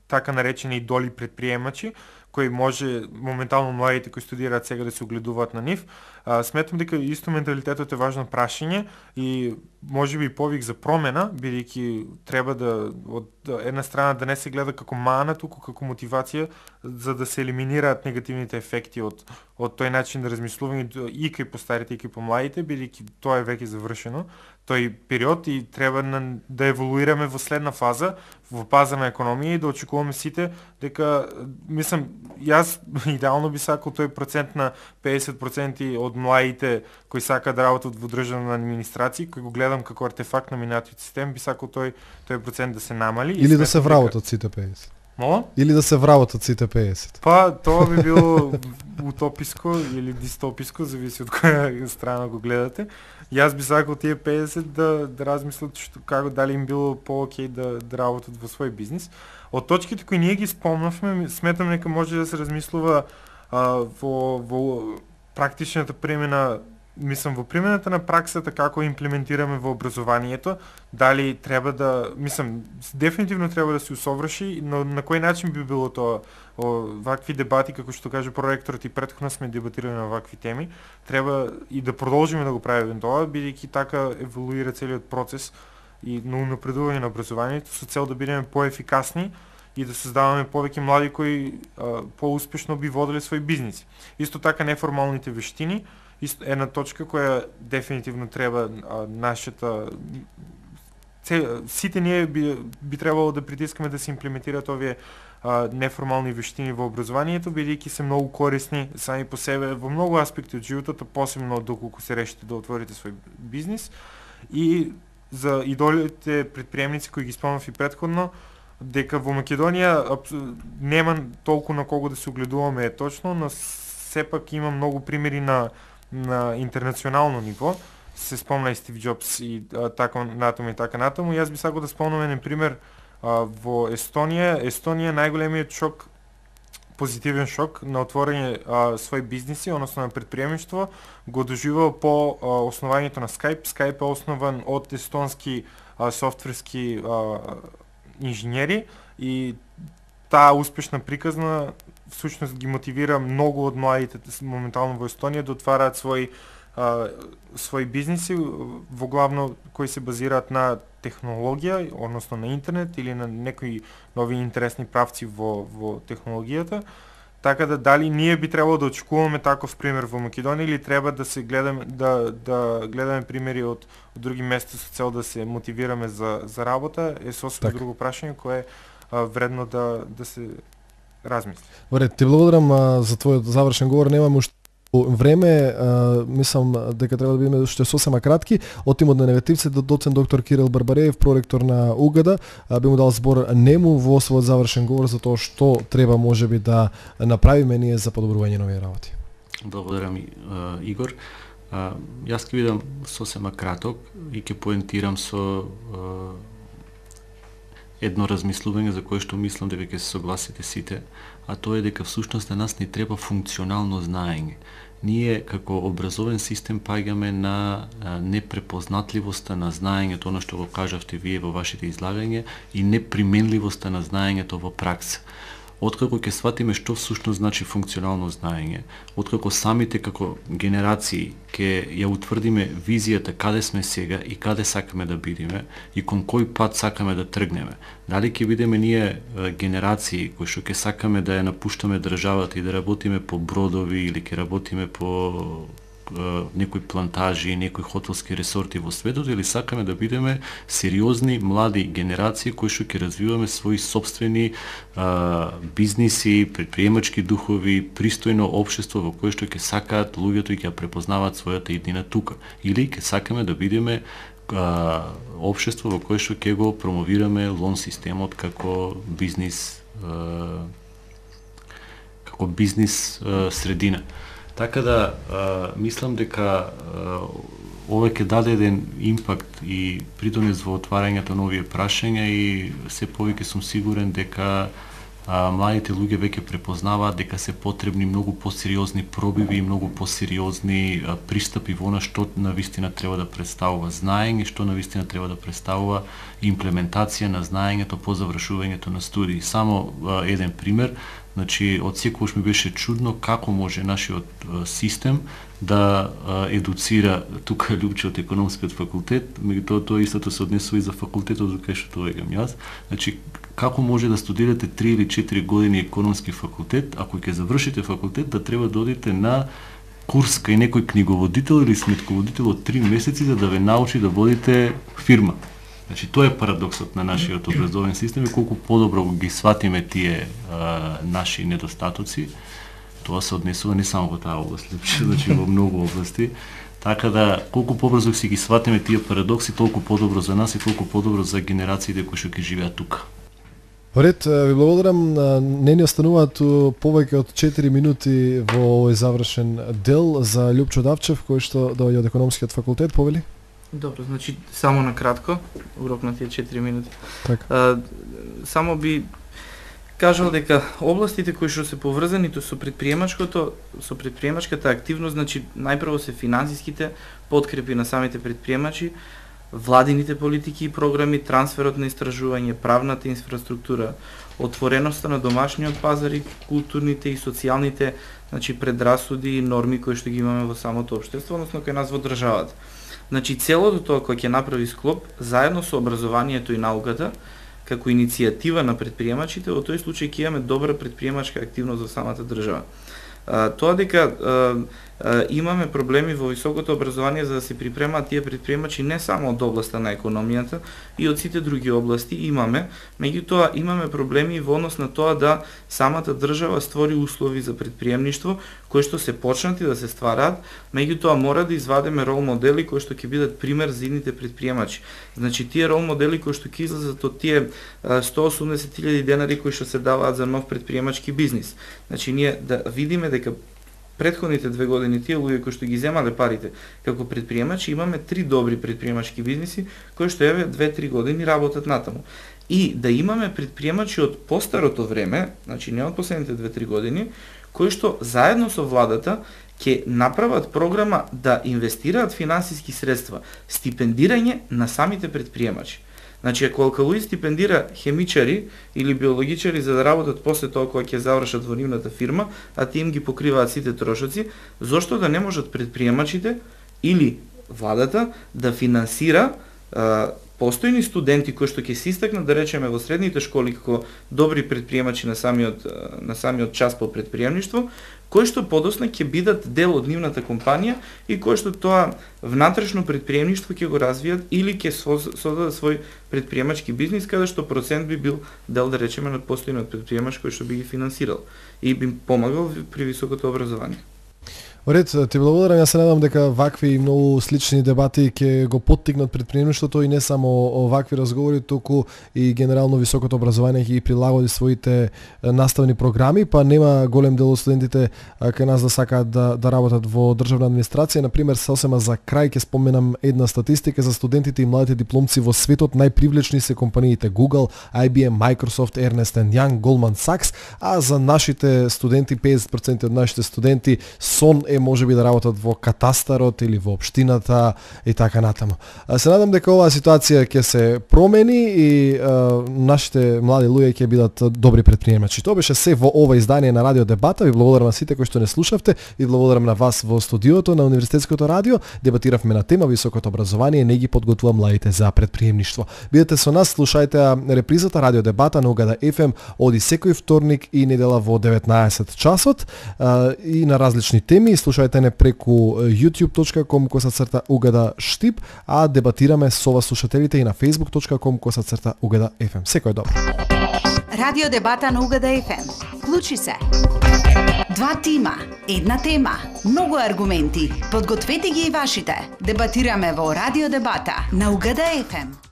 така наречени идоли предприемачи, кои може моментално младите кои студираат сега да се огледуваат на нив. А, сметам дека исто менталитетот е важно прашање и можеби повик за промена, бидејќи треба да од една страна да не се гледа како мана, туку како мотивација за да се елиминираат негативните ефекти од од тој начин да размислување и кај постарите и кај помладите, бидејќи тоа е веќе завршено тој период и треба на, да еволуираме во следна фаза во пазарна економија и да очекуваме сите дека, мислам, јас идеално би сакал тој процент на педесет проценти од младите кои сакаат да работат во државна администрација, кој го гледам како артефакт на минатиот систем, би сакал тој тој процент да се намали или да се вработат сите педесет. Мола? Или да се вработат сите педесет. Па тоа би било утописко или дистописко, зависи од која страна го гледате. Јас би сакал тие педесет да да размислат што како дали им било по-окей да да работат во свој бизнис. Од точките кои ние ги спомнавме, сметам дека може да се размислува а, во во практичната примена, мислам во примената на праксата како имплементираме во образованието, дали треба да, мислам, дефинитивно треба да се усоврши, но на кој начин би било тоа? Вакви дебати, како што каже проректорот, и претходно сме дебатирали на вакви теми, треба и да продолжиме да го правиме тоа, бидејќи така еволуира целиот процес и на унапредување на образованието со цел да бидеме поефикасни и да создаваме повеќе млади кои а, поуспешно би водели свој бизнис. Исто така неформалните вештини, исто една точка која дефинитивно треба а, нашата сите ние би, би требало да притискаме да се имплементираат овие а, неформални вештини во образованието, бидејќи се многу корисни сами по себе во многу аспекти од животот, посебно доколку се решите да отворите свој бизнис. И за идолите предприемници кои ги спомнав и претходно, дека во Македонија нема толку на кого да се огледуваме е точно, но сепак има многу примери на на интернационално ниво. Се спомна и Стив Џобс и а, така натаму и така натаму. Јас би сакал да спомнам еден пример а, во Естонија. Естонија најголемиот шок, позитивен шок на отворање а, свој бизниси, односно на предприемништво, го доживува по а, основањето на Skype. Skype е основан од естонски а, софтверски а, инженери и таа успешна приказна всушност ги мотивира многу од младите моментално во Естонија да отвараат свој а, свој бизниси во главно кои се базираат на технологија, односно на интернет или на некои нови интересни правци во во технологијата. Така да дали ние би требало да очекуваме таков пример во Македонија или треба да се гледаме да да гледаме примери од, од други места со цел да се мотивираме за за работа е сосема друго прашање кое е а, вредно да да се размисли. Добре, ти благодарам а, за твојот завршен говор. Немаме уште време, а, мислам дека треба да бидеме уште сосема кратки. Од тимот на негативци до доцент доктор Кирил Барбареев, проректор на УГД, би му дал збор нему во својот завршен говор за тоа што треба можеби да направиме ние за подобрување на овие работи. Благодарам, Игор. А, јас ќе бидам сосема краток и ќе поентирам со а, едно размислување за кое што мислам дека ќе се согласите сите, а тоа е дека всушност на нас ни треба функционално знаење. Ние како образовен систем паѓаме на непрепознатливоста на знаењето, оно што го кажавте вие во вашите излагања, и неприменливоста на знаењето во пракса. откако ќе сватиме што всушност значи функционално знаење, откако самите како генерации ќе ја утврдиме визијата каде сме сега и каде сакаме да бидеме и кон кој пат сакаме да тргнеме. Дали ќе бидеме ние генерации кои што ќе сакаме да ја напуштаме државата и да работиме по бродови или ќе работиме по некои плантажи, некои хотелски ресорти во светот, или сакаме да бидеме сериозни млади генерации кои што ќе развиваме своји сопствени а, бизниси, предприемачки духови, пристојно општество во кое што ќе сакаат луѓето и ќе препознаваат својата иднина тука. Или ќе сакаме да бидеме а, општество во кое што ќе го промовираме лон системот како бизнис а, како бизнис а, средина. Така да, а, мислам дека а, ова ќе даде еден импакт и придонес во отварањето нови прашања и се повеќе сум сигурен дека а, младите луѓе веќе препознаваат дека се потребни многу посериозни пробиви и многу посериозни а, пристапи во она што навистина треба да представува знаење, што навистина треба да представува имплементација на знаењето по завршувањето на студии. Само а, еден пример. Значи, од секогаш ми беше чудно како може нашиот а, систем да а, едуцира тука Лјупче од економскиот факултет, меѓутоа тоа истото се однесува и за факултетот од кај што доаѓам јас. Значи, како може да студирате три или четири години економски факултет, ако ќе завршите факултет, да треба да одите на курс кај некој книговодител или сметководител од три месеци за да ве научи да водите фирма. Значи, тоа е парадоксот на нашиот образовен систем и колку подобро ги сватиме тие а, наши недостатоци, тоа се однесува не само во таа област, значи во многу области. Така да, колку побрзо си ги сватиме тие парадокси, толку подобро за нас и толку подобро за генерациите кои што ќе живеат тука. Поред, ви благодарам. Не ни остануваат повеќе од четири минути во овој завршен дел за Лјупчо Давчев, кој што доаѓа од економскиот факултет, повели? Добро, значи само на кратко, урок на тие четири минути. Така. А, само би кажал дека областите кои што се поврзани со предприемачкото, со предприемачката активност, значи најпрво се финансиските подкрепи на самите предприемачи, владините политики и програми, трансферот на истражување, правната инфраструктура, отвореноста на домашниот пазар и културните и социјалните, значи предрасуди и норми кои што ги имаме во самото општество, односно кај нас во државата. Значи целото тоа кој ќе направи склоп заедно со образованието и науката како иницијатива на предприемачите, во тој случај ќе имаме добра предприемачка активност во самата држава. А, тоа дека а, а, имаме проблеми во високото образование за да се припремаат тие предприемачи не само од областа на економијата и од сите други области имаме, меѓутоа имаме проблеми во однос на тоа да самата држава створи услови за предприемништво кои што се почнати да се ствараат, меѓутоа мора да извадиме рол модели кои што ќе бидат пример за идните предприемачи. Значи тие рол модели кои што ќе излезат од тие сто и осумдесет илјади денари кои што се даваат за нов предприемачки бизнис. Значи ние да видиме дека претходните две години тие луѓе кои што ги земале парите како предприемачи, имаме три добри предприемачки бизниси кои што еве две-три години работат натаму. И да имаме предприемачи од постарото време, значи не од последните две-три години, кои што заедно со владата ќе направат програма да инвестираат финансиски средства, стипендирање на самите предприемачи. Значи, ако Алкалоид стипендира хемичари или биологичари за да работат после тоа кога ќе завршат во нивната фирма, а тие им ги покриваат сите трошоци, зошто да не можат предприемачите или владата да финансира а, постојни студенти кои што ќе се истакнат, да речеме, во средните школи како добри предприемачи на самиот на самиот час по предприемништво, кои што подосна ќе бидат дел од нивната компанија и кои што тоа внатрешно предприемништво ќе го развијат или ќе создадат свој предприемачки бизнис каде што процент би бил дел, да речеме, на постојниот предприемач кој што би ги финансирал и би помагал при високото образование. Оред, ти благодарам, јас се надам дека вакви многу слични дебати ќе го поттикнат предприемништвото и не само вакви разговори, туку и генерално високото образование ќе ги прилагоди своите наставни програми, па нема голем дел од студентите кај нас да сакаат да, да работат во државна администрација. Например, сосема за крај ќе споменам една статистика за студентите и младите дипломци во светот. Најпривлечни се компаниите Google, I B M, Microsoft, Ernst and Young, Goldman Sachs, а за нашите студенти, педесет проценти од нашите студенти, Сон е можеби да работат во катастарот или во општината и така натаму. Се надам дека оваа ситуација ќе се промени и а, нашите млади луѓе ќе бидат добри предприемачи. Тоа беше се во ова издание на Радио Дебата. Ви благодарам на сите кои што не слушавте и благодарам на вас во студиото на Универзитетското радио. Дебатиравме на тема високото образование, не ги подготвува младите за предприемништво. Бидете со нас, слушајте репризата Радио Дебата на Угада еф ем оди секој вторник и недела во деветнаесет часот а, и на различни теми. Слушајте не преку youtube точка com косацрта Угада Штип, а дебатираме со вас слушателите и на facebook точка com косацрта Угада еф ем. Секој добро. Радио Дебата на Угада еф ем. Клучи се. Два тима, една тема, многу аргументи. Подгответе ги и вашите. Дебатираме во Радио Дебата на Угада еф ем.